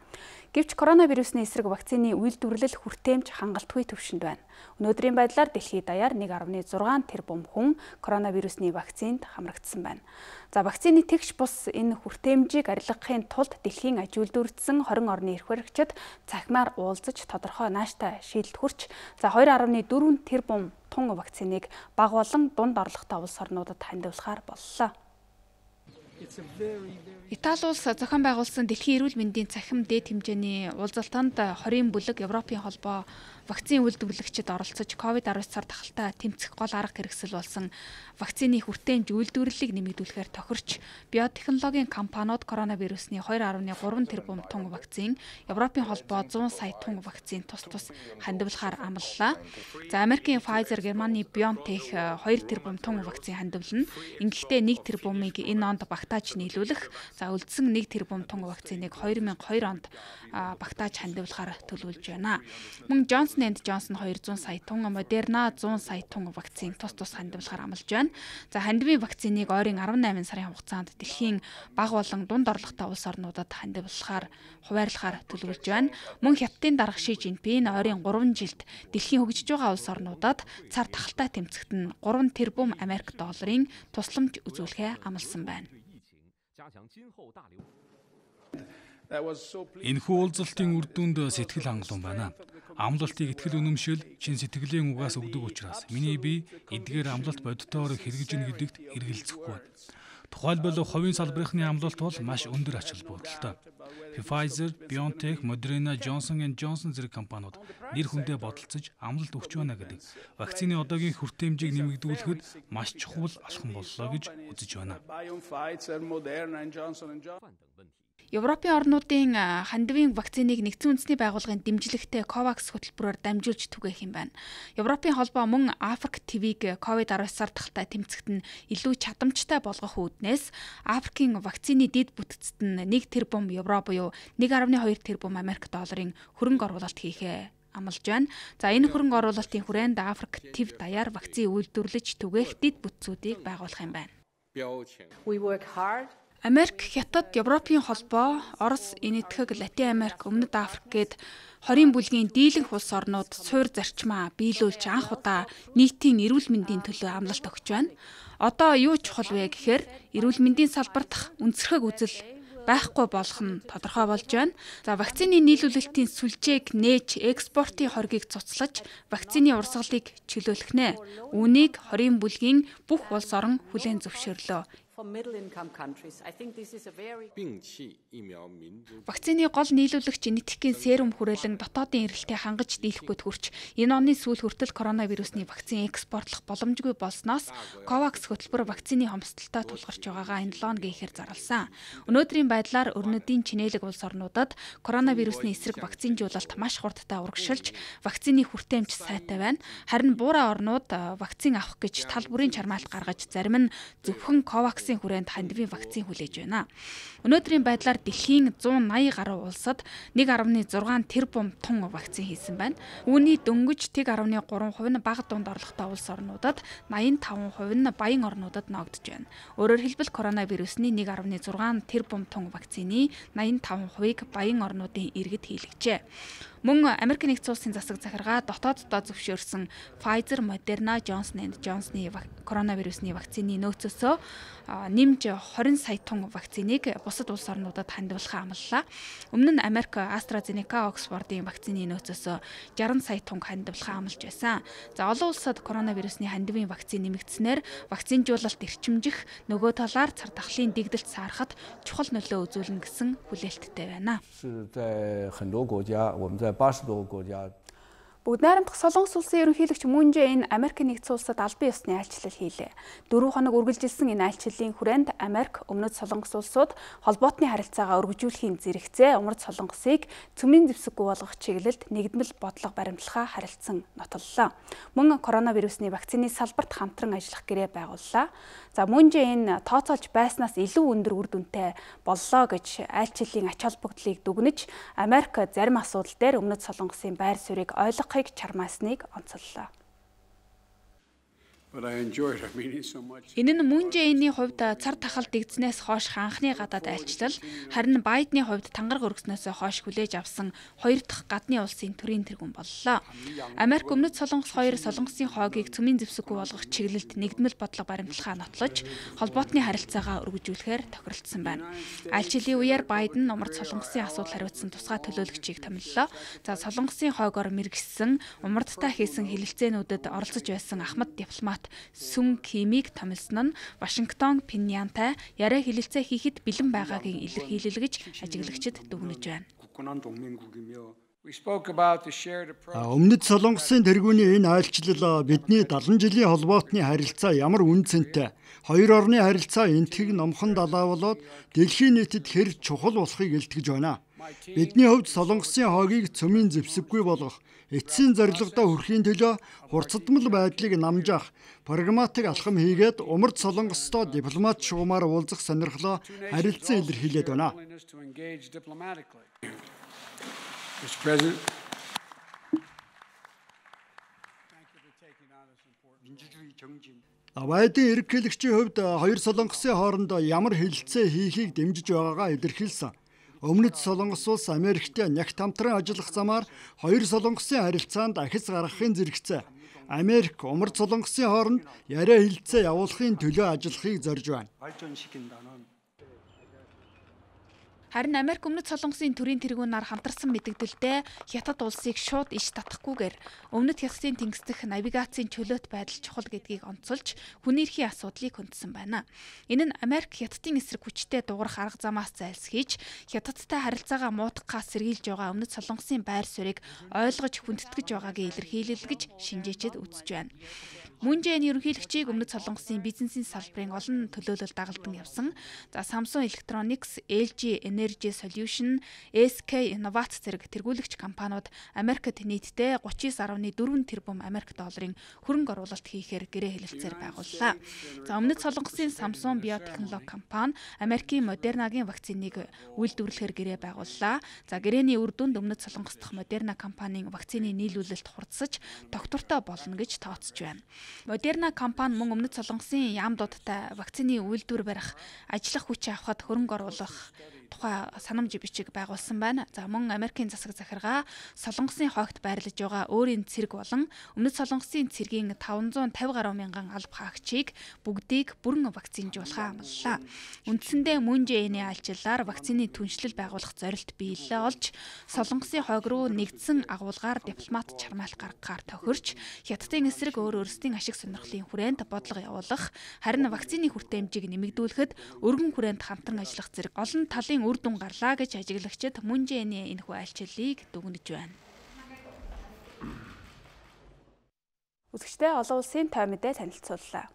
Гэвч коронавирусны эсрэг вакцины үйлдвэрлэл хүртээмж хангалтгүй түвшинд байна. Өнөөдрийн байдлаар дэлхийд даяар 1.6 тэрбум хүн коронавирусны вакцинд хамрагдсан байна. За вакцины тэгш бус энэ хүртээмжийг арилгахын тулд дэлхийн аж үйлдвэрлэсэн 20 орны эрх баригчид цахимаар уулзаж тодорхой нааштай шийдэлд хүрч 2.4 тэрбум тонн вакциныг бага болон дунд орлоготой улс орнуудад хандивлахаар боллоо. Итали улс зохион байгуулсан дэлхийн эрүүл мэндийн цахим дээд хэмжээний уулзалтанд 20 бүлэг Европын холбоо вакцины үйлдвэрлэгчид оролцож COVID-19 цар тахалтай тэмцэх гол арга хэрэгсэл болсон вакцины хүртээмж үйлдвэрлэлийг нэмэгдүүлэхээр тохирч биотехнологийн компаниуд коронавирусны 2.3 тэрбум тонн вакцин, Европын холбоо 100 сая тонн вакцин тус хандивлахаар амлалаа. За Америкийн Pfizer, Германы BioNTech 2 тэрбум тонн вакцин хандивлана. Ингэхдээ 1 тэрбумыг энэ онд багтааж нийлүүлэх, за үлдсэн 1 тэрбум тонн вакциныг 2002 онд багтааж хандивлахаар төлөвлөж байна. Мөн Johnson & Johnson 200 сая тонн, Moderna 100 сая тонн вакцин тус хандивлахаар амлаж байна. За хандивын вакциныг ойрын 18 сарын хугацаанд дэлхийн бага болон дунд орлоготой улс орнуудад хандивлахаар хуваарлахаар төлөвлөж байна. Мөн Хятадын дарга Ши Жинпин ойрын 3 жилд дэлхийн хөгжиж байгаа улс орнуудад цар тахалтай тэмцэхэд нь 3 тэрбум Америк долларын тусламж үзүүлэхээ амласан байна. Энэхүү уулзалтын үр дүнд сэтгэл хангалуун байна. Амлалтыг итгэл үнэмшил, чин сэтгэлийн угаас өгдөг учраас миний бие эдгээр амлалт бодитоор хэрэгжинэ гэдэгт эргэлзэхгүй. Тухайлбал хувийн салбарынхны амлалт бол маш өндөр ач холбогдолтой. Pfizer, BioNTech, Moderna, Johnson & Johnson зэрэг компаниуд нэр хүндээ бодолцож амлалт өгч байна гэдэг вакцины одоогийн хүртээмжийг нэмэгдүүлэхэд маш чухал алхам боллоо гэж үзэж байна. Европын орнуудын хандивын вакциныг нэгдсэн үндэсний байгууллагын дэмжлэгтэй COVAX хөтөлбөрөөр дамжуулж түгээх юм байна. Европын холбоо мөн Африк ТВ-г COVID-19 цар тахалтай тэмцэхэд нь илүү чадамжтай болгох үүднээс Африкийн вакцины дэд бүтцэд нь 1 тэрбум евро буюу 1.2 тэрбум Америк долларын хөрөнгө оруулалт хийхээ амлаж байна. За энэ хөрөнгө оруулалтын хүрээнд Африк ТВ даяар вакцины үйлдвэрлэж түгээх дэд бүтцүүдийг байгуулах юм байна. Америк, Хятад, Европын холбоо, Орос, Энэтхэг, Латин Америк, Өмнөд Африк гээд 20 бүлгийн дийлэнх улс орнууд суур зарчмаа биелүүлж анх удаа нийтийн эрүүл мэндийн төлөө амлалт өгч байна. Одоо юу чухал вэ гэхээр эрүүл мэндийн салбарт үндэсрэх үзэл байхгүй болох нь тодорхой болж байна. За вакцины нийлүүлэлтийн сүлжээг нээж экспортын хоргийг цуцлаж вакцины урсгалыг чөлөөлөх нэ. Үүнийг 20 бүлгийн бүх улс орон хүлээн зөвшөөрлөө. Вакцины гол нийлүүлэгч Энэтхэгийн серум хүрээлэн дотоодын эрэлтээ хангаж дийлэхгүйд хүрч энэ оны сүүл хүртэл коронавирусны вакцин экспортлох боломжгүй болсноос COVAX хөтөлбөр вакцины хомсдолтой тулгарч байгаагаа энэ 7 хоногийн ихэр зарласан. Өнөөдрийн байдлаар өрнөдийн чинээлэг улс орнуудад коронавирусны эсрэг вакцинжуулалт маш хурдтай урагшилж вакцины хүртээмж сайтай байна. Харин буурай орнууд вакцин авах гэж тал бүрийн чармаалт гаргаж зарим нь зөвхөн COVAX хүрээнд хандивын вакцин хүлээж байна. Өнөөдрийн байдлаар дэлхийн 180 гаруй улсад 1.6 тэрбум тонн вакцин хийсэн байна. Үүний дөнгөж 1.3% нь бага дунд орлоготой улс орнуудад, 85% нь баян орнуудад ногдож байна. Өөрөөр хэлбэл коронавирусны 1.6 тэрбум тонн вакцины 85%-ыг баян орнуудын иргэд хийлгэжээ. Мөн Америк нэгдсэн улсын засаг захиргаа дотооддоо зөвшөөрсөн Pfizer, Moderna, Johnson & Johnson-ы коронавирусны вакцины нөөцөөсөө нэмж 20 сая тонн вакциныг бусад улс орнуудад хандивлахаа амлалаа. Өмнө нь Америк AstraZeneca, Oxford-ын вакцины нөөцөөсөө 60 сая тонн хандивлахаа амлаж байсан. За олон улсад коронавирусны хандивын вакцин нэмэгдснээр вакцинжуулалт эрчимжих, нөгөө талаар цар тахлын дэгдэлт саарахад чухал нөлөө үзүүлнэ гэсэн хүлээлттэй байна. Бүгд найрамдах Солонгос улсын ерөнхийлөгч Мун Жэ-ин Америк нэгдсэн улсад албан ёсны айлчлал хийлээ. 4 хоног үргэлжилсэн энэ айлчлалын хүрээнд Америк, Өмнөд Солонгос улсууд холбоотны харилцаагаа өргөжүүлэхийн зэрэгцээ Умард Солонгосыг цөмийн зэвсэггүй болгох чиглэлд нэгдмэл бодлого баримтлахаа харилцсан нотоллоо. Мөн коронавирусны вакцины салбарт хамтран ажиллах гэрээ байгууллаа. За Мун Жэ-ин тооцоолж байснаас илүү өндөр үр дүнтэй боллоо гэж айлчлалын ач холбогдлыг дүгнэж Америк зарим асуудал дээр Өмнөд Солонгосын байр суурийг ойлгохыг чармаасныг онцоллоо. Энэ нь Мун Жэ-иний хувьд цар тахал дэгдснээс хойш анхны гадаад айлчлал, харин Байдны хувьд тангар өргснөөс хойш хүлээж авсан хоёр дахь гадны улсын төрийн тэргүүн боллоо. Америк Өмнөд Солонгос хоёр Солонгосын хойгийг цөмийн зэвсэггүй болгох чиглэлд нэгдмэл бодлого баримтлахаа нотлож, холбоотны харилцаагаа өргөжүүлэхээр тохиролцсон байна. Айлчлалын үеэр Байден Умард Солонгосын асуудал хариуцсан тусгай төлөөлөгчийг томиллоо. За Солонгосын хойгоор мэргэссэн Умардтай хийсэн хэлэлцээнүүдэд оролцож байсан ахмад дипломат Сүн Кимийг томилсон нь Вашингтон Пиньянтай яриа хэлэлцээ хийхэд бэлэн байгаагийн илэрхийлэл гэж ажиглагчид дүгнэж байна. Өмнөд Солонгосын тэргүүний энэ айлчлал бидний 70 жилийн холбоотны харилцаа ямар үнцэнтэй, хоёр орны харилцаа энтхэг номхон далаа болоод дэлхийн нийтэд хэр чухал болохыг илтгэж байна. Бидний хувьд Солонгосын хойгийг цөмийн зэвсэггүй болгох, эцсийн зорилгодоо хүрэхийн төлөө хурцдмал байдлыг намжаах, прагматик алхам хийгээд Умард Солонгостой дипломат шугамаар уулзах сонирхлоо харилцан илэрхийлээд байна. Байдын ерөнхийлөгчийн хувьд хоёр Солонгосын хооронд ямар хэлэлцээ хийхийг дэмжиж байгаагаа илэрхийлсэн. Өмнөд Солонгос улс Америктэй нягт хамтран ажиллах замаар хоёр Солонгосын харилцаанд ахиц гаргахын зэрэгцээ. Америк Умард Солонгосын хооронд яриа хэлэлцээ явуулахын төлөө ажиллахыг зорж байна. Харин Америк Өмнөд Солонгосын төрийн тэргүүнээр хамтарсан мэдэгдэлдээ Хятад улсыг шууд иш татахгүйгээр Өмнөд Хятадын тэнгис дэх навигацийн чөлөөт байдал чухал гэдгийг онцолж хүний эрхийн асуудлыг хөндсөн байна. Энэ нь Америк Хятадын эсрэг хүчтэй дуурах арга замаас зайлсхийж Хятадтай харилцаагаа муутгахаас сэргийлж байгаа Өмнөд Солонгосын байр суурийг ойлгож хүндэтгэж байгаагийн илэрхийлэл гэж шинжээчид үзэж байна. Мун Жэ-ийн ерөнхийлөгчийг Өмнөд Солонгосын бизнесийн салбарын олон төлөөлөл дагалдан явсан. За Samsung Electronics, LG Energy Solution, SK Innovac зэрэг тэргүүлэгч компаниуд Америкт нийтдээ 39.4 тэрбум Америк долларын хөрөнгө оруулалт хийхээр гэрээ хэлэлцээр байгууллаа. За Өмнөд Солонгосын Samsung биотехнологи компани Америкийн Moderna-гийн вакциныг үйлдвэрлэхээр гэрээ байгууллаа. За гэрээний үр дүнд Өмнөд Солонгос дахь Moderna компанийн вакцины нийлүүлэлт хурдсаж доктортой болно гэж тооцож байна. Moderna компани мөн Өмнөд Солонгосын яамдуудтай вакцины үйлдвэр барих, ажиллах хүч авахд хөрөнгө оруулах тухай санамж бичиг байгуулсан байна. За мөн Америкийн засаг захиргаа Солонгосын хойгт байрлаж байгаа өөрийн цэрэг болон Өмнөд Солонгосын цэргийн 550 гаруй мянган алба хаагчийг бүгдийг бүрэн вакцинжуулахаа амлалаа. Үндсэндээ Мун Жэ-ийн айлчлалаар вакцины түншлэл байгуулах зорилт биелэлээ олж Солонгосын хойг руу нэгдсэн агуулгаар дипломат чармайлт гаргахаар тохирч Хятадын эсрэг өөр өөрсдийн ашиг сонирхлын хүрээнд бодлого явуулах, харин вакцины хүртээмжийг нэмэгдүүлэхэд өргөн хүрээнд хамтран ажиллах зэрэг олон талын үр дүн гарлаа гэж ажиглагчид Мун Жэ-ийн энэхүү айлчлалыг дүгнэж байна. Үзэгчдээ олон улсын той мэдээ танилцууллаа.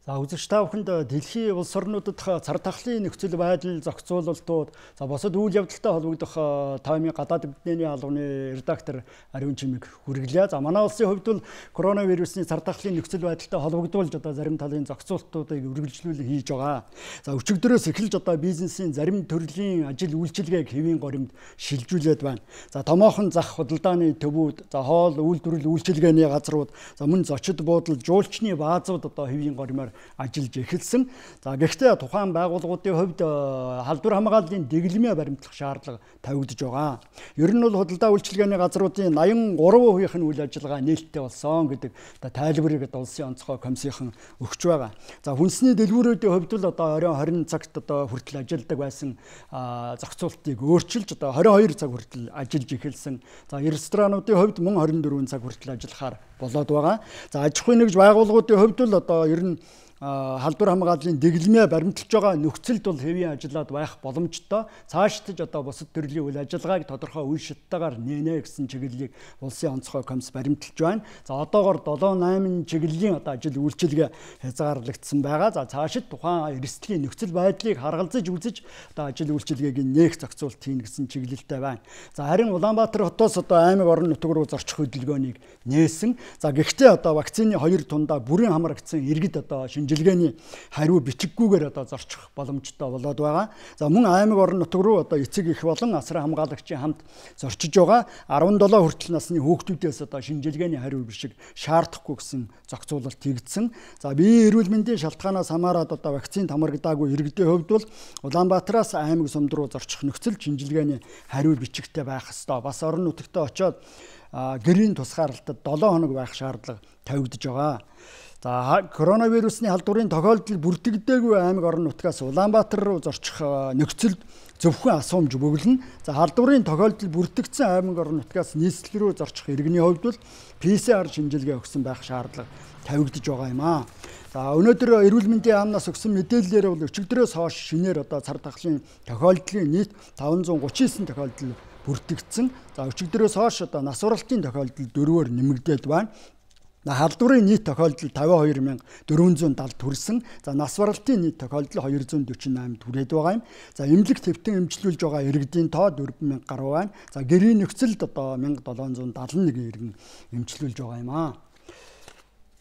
За үзэгч та бүхэнд дэлхийн улс орнуудад цар тахлын нөхцөл байдал зохицуулалтууд босод үйл явдалтай холбогдох таймын гадаад мэдээний албаны редактор Ариун Чимэг хүргэлээ. За манай улсын хувьд бол коронавирусны цар тахлын нөхцөл байдалтай холбогдуулж зарим талын зохицуулалтуудыг үргэлжлүүлэн хийж байгаа. За өчигдөрөөс эхэлж бизнесийн зарим төрлийн ажил үйлчилгээг хэвийн горимд шилжүүлээд байна. За томоохон зах худалдааны төвүүд, хоол, үйлдвэрлэл үйлчилгээний газрууд, мөн зочид буудал, жуулчны баазууд хэвийн горимоор ажиллаж эхэлсэн. За гэхдээ тухайн байгууллагуудын хувьд халдвар хамгааллын дэглэмээ баримтлах шаардлага тавигдж байгаа. Ер нь бол худалдаа үйлчилгээний газруудын 83% нь үйл ажиллагаа нээлттэй болсон гэдэг тайлбарыг улсын онцгой комиссийнхан өгч байгаа. За хүнсний дэлгүүрүүдийн хувьд бол оройн 20 цагт хүртэл ажилладаг байсан зохицуултыг өөрчилж 22 цаг хүртэл ажиллаж эхэлсэн. За ресторануудын хувьд мөн 24 цаг хүртэл ажиллахаар болоод байгаа. За аж ахуйн нэгж байгууллагуудын хувьд бол ер нь халдвар хамгааллын дэглэмээ баримталж байгаа нөхцөлд бол хэвийн ажиллаад байх боломжтой. Цаашдаж бусад төрлийн үйл ажиллагааг тодорхой үе шаттайгаар нээнэ гэсэн чиглэлийг улсын онцгой комисс баримталж байна. За одоогоор 7-8 чиглэлийн ажил үйлчилгээ хязгаарлагдсан байгаа. За цаашид тухайн эрсдлийн нөхцөл байдлыг харгалзаж үзэж ажил үйлчилгээг нээх зохицуулт хийн гэсэн чиглэлтэй байна. За харин Улаанбаатар хотоос аймаг орон нутг руу зорчих хөдөлгөөнийг нээсэн. За гэхдээ вакцины 2 тундаа бүрэн хамрагдсан иргэд шинэ шинжилгээний хариу бичиггүйгээр одоо зорчих боломжтой болоод байгаа. За мөн аймаг орон нутг руу одоо эцэг эх болон асран хамгаалагчийн хамт зорчиж байгаа 17 хүртэл насны хүүхдүүдээс одоо шинжилгээний хариу бичиг шаардахгүй гэсэн зохицуулалт хийгдсэн. За биеийн эрүүл мэндийн шалтгаанаас хамаарат одоо вакцин хамрагдаагүй иргэдийн хувьд бол Улаанбаатараас аймаг сумд руу зорчих нөхцөл шинжилгээний хариу бичигтэй байх ёстой. Бас орон нутагтаа очиод гэрийн тусгаарлалтад 7 хоног байх шаардлага тавигдж байгаа. За коронавирусны халдварын тохиолдол бүртгэдэггүй аймаг орон нутгаас Улаанбаатар руу зорчих нөхцөлд зөвхөн асуумж бөглөн. За халдварын тохиолдол бүртгэгдсэн аймаг орон нутгаас нийслэл рүү зорчих иргэний хувьд бол PCR шинжилгээ өгсөн байх шаардлага тавигдж байгаа юм аа. За өнөөдөр эрүүл мэндийн яамнаас өгсөн мэдээллээр бол өчигдрөөс хойш шинээр одоо цар тахлын тохиолдлын нийт 539 тохиолдол бүртгэгдсэн. За өчигдрөөс хойш одоо нас баралтын тохиолдол 4-өөр нэмэгдээд байна. Халдварын нийт тохиолдол 52,470 хүрсэн. За нас баралтын нийт тохиолдол 248 хүрээд байгаа юм. За эмнэлэг төвтөн эмчилүүлж байгаа иргэдийн тоо 4,000 гаруй байна. За гэрийн нөхцөлд одоо 1771 иргэн эмчилүүлж байгаа юм аа.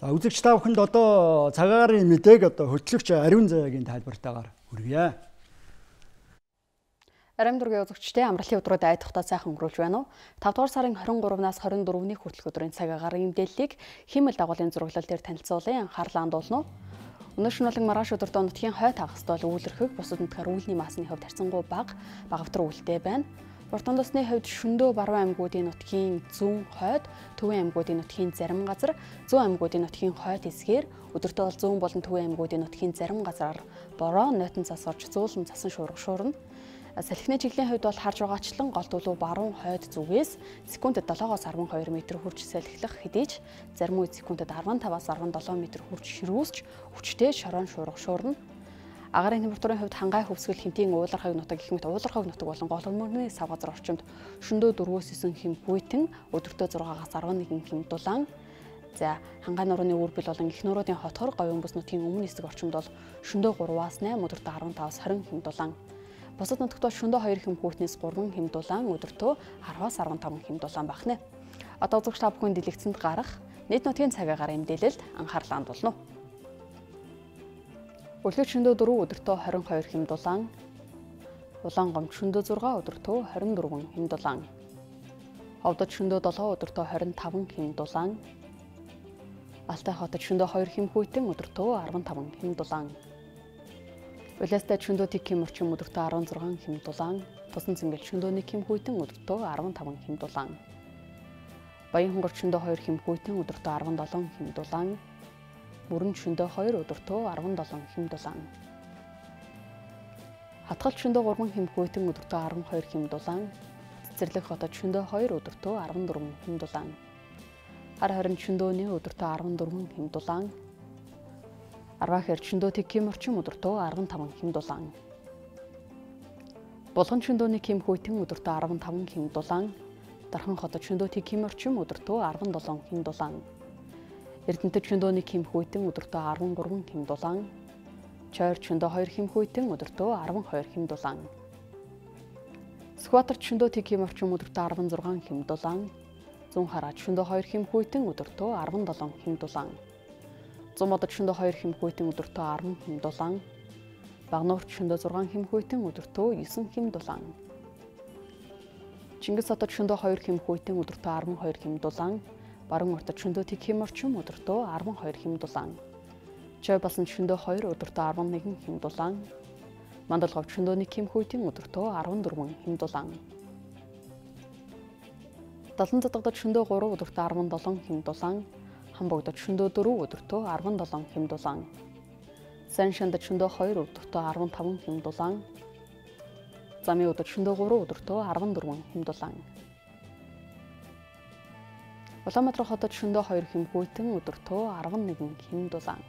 За үзэгч та бүхэнд одоо цагаагаар мэдээг одоо хөтлөгч Ариун Заяагийн тайлбартаагаар хүргье. Арим дургийн үзэгчтэй амралтын өдрүүд айдахтаа сайхан өнгөрүүлж байна уу? 5 дугаар сарын 23-наас 24-ний хүртэлх өдрийн цаг агаарын мэдээллийг химэл дагуулын зураглал дээр танилцуулан анхаарлаа хандуулна уу? Өнөө шөнөөлөн маргааш өдөртөө нутгийн хойд хагастай үүлэрхэг бусад нутгаар үүлний масны хувьд харьцангуй бага багавтар үүлтэй байна. Уртан тосны хувьд шөндөө баруун аймагуудын нутгийн зүүн хойд, төвийн аймагуудын нутгийн зарим газар, зүүн аймагуудын нутгийн хойд хэсгээр өдөртөө бол зүүн болон төвийн аймагуудын нутгийн зарим газараар бороо, нойтон цас орж зөөлөн цасан шуурга. Салхины чиглийн хувьд бол харж байгаачлан гол төлөв баруун хойд зүгээс секундэд 7-оос 12 м хүрч салхилах хэдийч зарим үед секундэд 15-аас 17 м хүрч ширүүсч хүчтэй шорон шуурна. Агаарын температурын хувьд хангай хөвсгөл хэмтийн уулархаг нутаг гэх мэт уулархаг нутаг болон гол мөрний сав газар орчимд шөндөө 4-9 хэм хүйтэн өдөртөө 6-аас 11 хэм дулаан. За хангай нурууны үрбэл болон их нууруудын хотхор говийн бүс нутгийн өмнө хэсэг орчимд бол шөндөө 3-аас 8 өдөртөө 15-аас 20 хэм дулаан. Бусад нутагт бол шөндөө 2 хэм хүйтнээс 3 хэм дулаан өдөртөө 10-аас 15 хэм дулаан бахна. Одоо үзэгч та бүхэн дэлгэцэнд гарах нийт нутгийн цаг агаарын мэдээлэлд анхаарлаа хандуулна. Үлгэр шөндөө 4 өдөртөө 22 хэм дулаан, Улаан гомд шөндөө 6 өдөртөө 24 хэм дулаан, Овдод шөндөө 7 өдөртөө 25 хэм дулаан, Алтай хотод шөндөө 2 хэм хүйтэн өдөртөө 15 хэм дулаан. Улаастай шөндөө 1 хэм орчим өдөртөө 16 хэм дулаан, Тусан цэнгэл шөндөө 1 хэм хүйтэн өдөртөө 15 хэм дулаан. Баян хонгор шөндөө 2 хэм хүйтэн өдөртөө 17 хэм дулаан, Бүрэн шөндөө 2 өдөртөө 17 хэм дулаан. Хатгал шөндөө 3 хэм хүйтэн өдөртөө 12 хэм дулаан, Цэцэрлэг хотод шөндөө 2 өдөртөө 14 хэм дулаан. Хар хорин шөндөө 1 өдөртөө 14 хэм дулаан. Арвахэр шөндөө 1 хэм орчим өдөртөө 15 хэм дулаан. Булган шөндөө 1 хэм хүйтэн өдөртөө 15 хэм дулаан. Дархан хотод шөндөө 1 хэм орчим өдөртөө 17 хэм дулаан. Эрдэнэтэд шөндөө 1 хэм хүйтэн өдөртөө 13 хэм дулаан. Чойр шөндөө 2 хэм хүйтэн өдөртөө 12 хэм дулаан. Сүхбаатарт шөндөө 1 хэм орчим өдөртөө 16 хэм дулаан. Зүүн хараад шөндөө 2 хэм хүйтэн өдөртөө 17 хэм дулаан. Зумодод шөндөө 2 хэм хүйтэн өдөртөө 10 хэм дулаан. Багнуурт шөндөө 6 хэм хүйтэн өдөртөө 9 хэм дулаан. Чингис хотод шөндөө 2 хэм хүйтэн өдөртөө 12 хэм дулаан. Баруун уртад шөндөө 1 хэм орчим өдөртөө 12 хэм дулаан. Чой болсон шөндөө 2 өдөртөө 11 хэм дулаан. Мандалговд шөндөө 1 хэм хүйтэн өдөртөө 14 хэм дулаан. Далан задагдад шөндөө 3 өдөртөө 17 хэм дулаан. Хамбогдод шөндөө 4 өдөртөө 17 хэм дулаан. Сан шандад шөндөө 2 өдөртөө 15 хэм дулаан. Замын өдөрт шөндөө 3 өдөртөө 14 хэм дулаан. Улаанбаатар хотод шөндөө 2 хэм хүйтэн өдөртөө 11 хэм дулаан.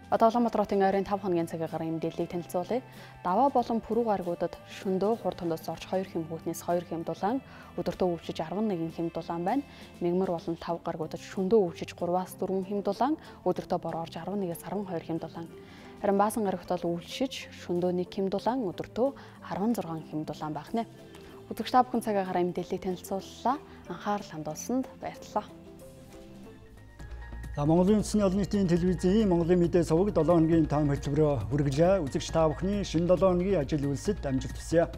Одоо Улаанбаатар хотын ойрын 5 хоногийн цаг агаарын мэдээллийг танилцуулъя. Даваа болон Пүрэв гаригуудад шөндөө хурд тондоос орж 2 хэм хүйтнээс 2 хэм дулаан, өдөртөө өвчиж 11 хэм дулаан байна. Мягмар болон 5 гаригуудад шөндөө өвчиж 3-аас 4 хэм дулаан, өдөртөө бороо орж 11-ээс 12 хэм дулаан. Харин Баасан гарагт бол өвчиж шөндөө 1 хэм дулаан, өдөртөө 16 хэм дулаан байна. Үзэгч та бүхэн цаг агаарын мэдээллийг танилцууллаа. Анхаарал хандуулсанд баярлалаа. За Монголын үндэсний олон нийтийн телевизийн Монголын мэдээ суваг 7 хоногийн тайм хөтөлбөрөөр хүргэлээ. Үзэгч та бүхний шинэ 7 хоногийн ажил үйлсэд амжилт хүсье.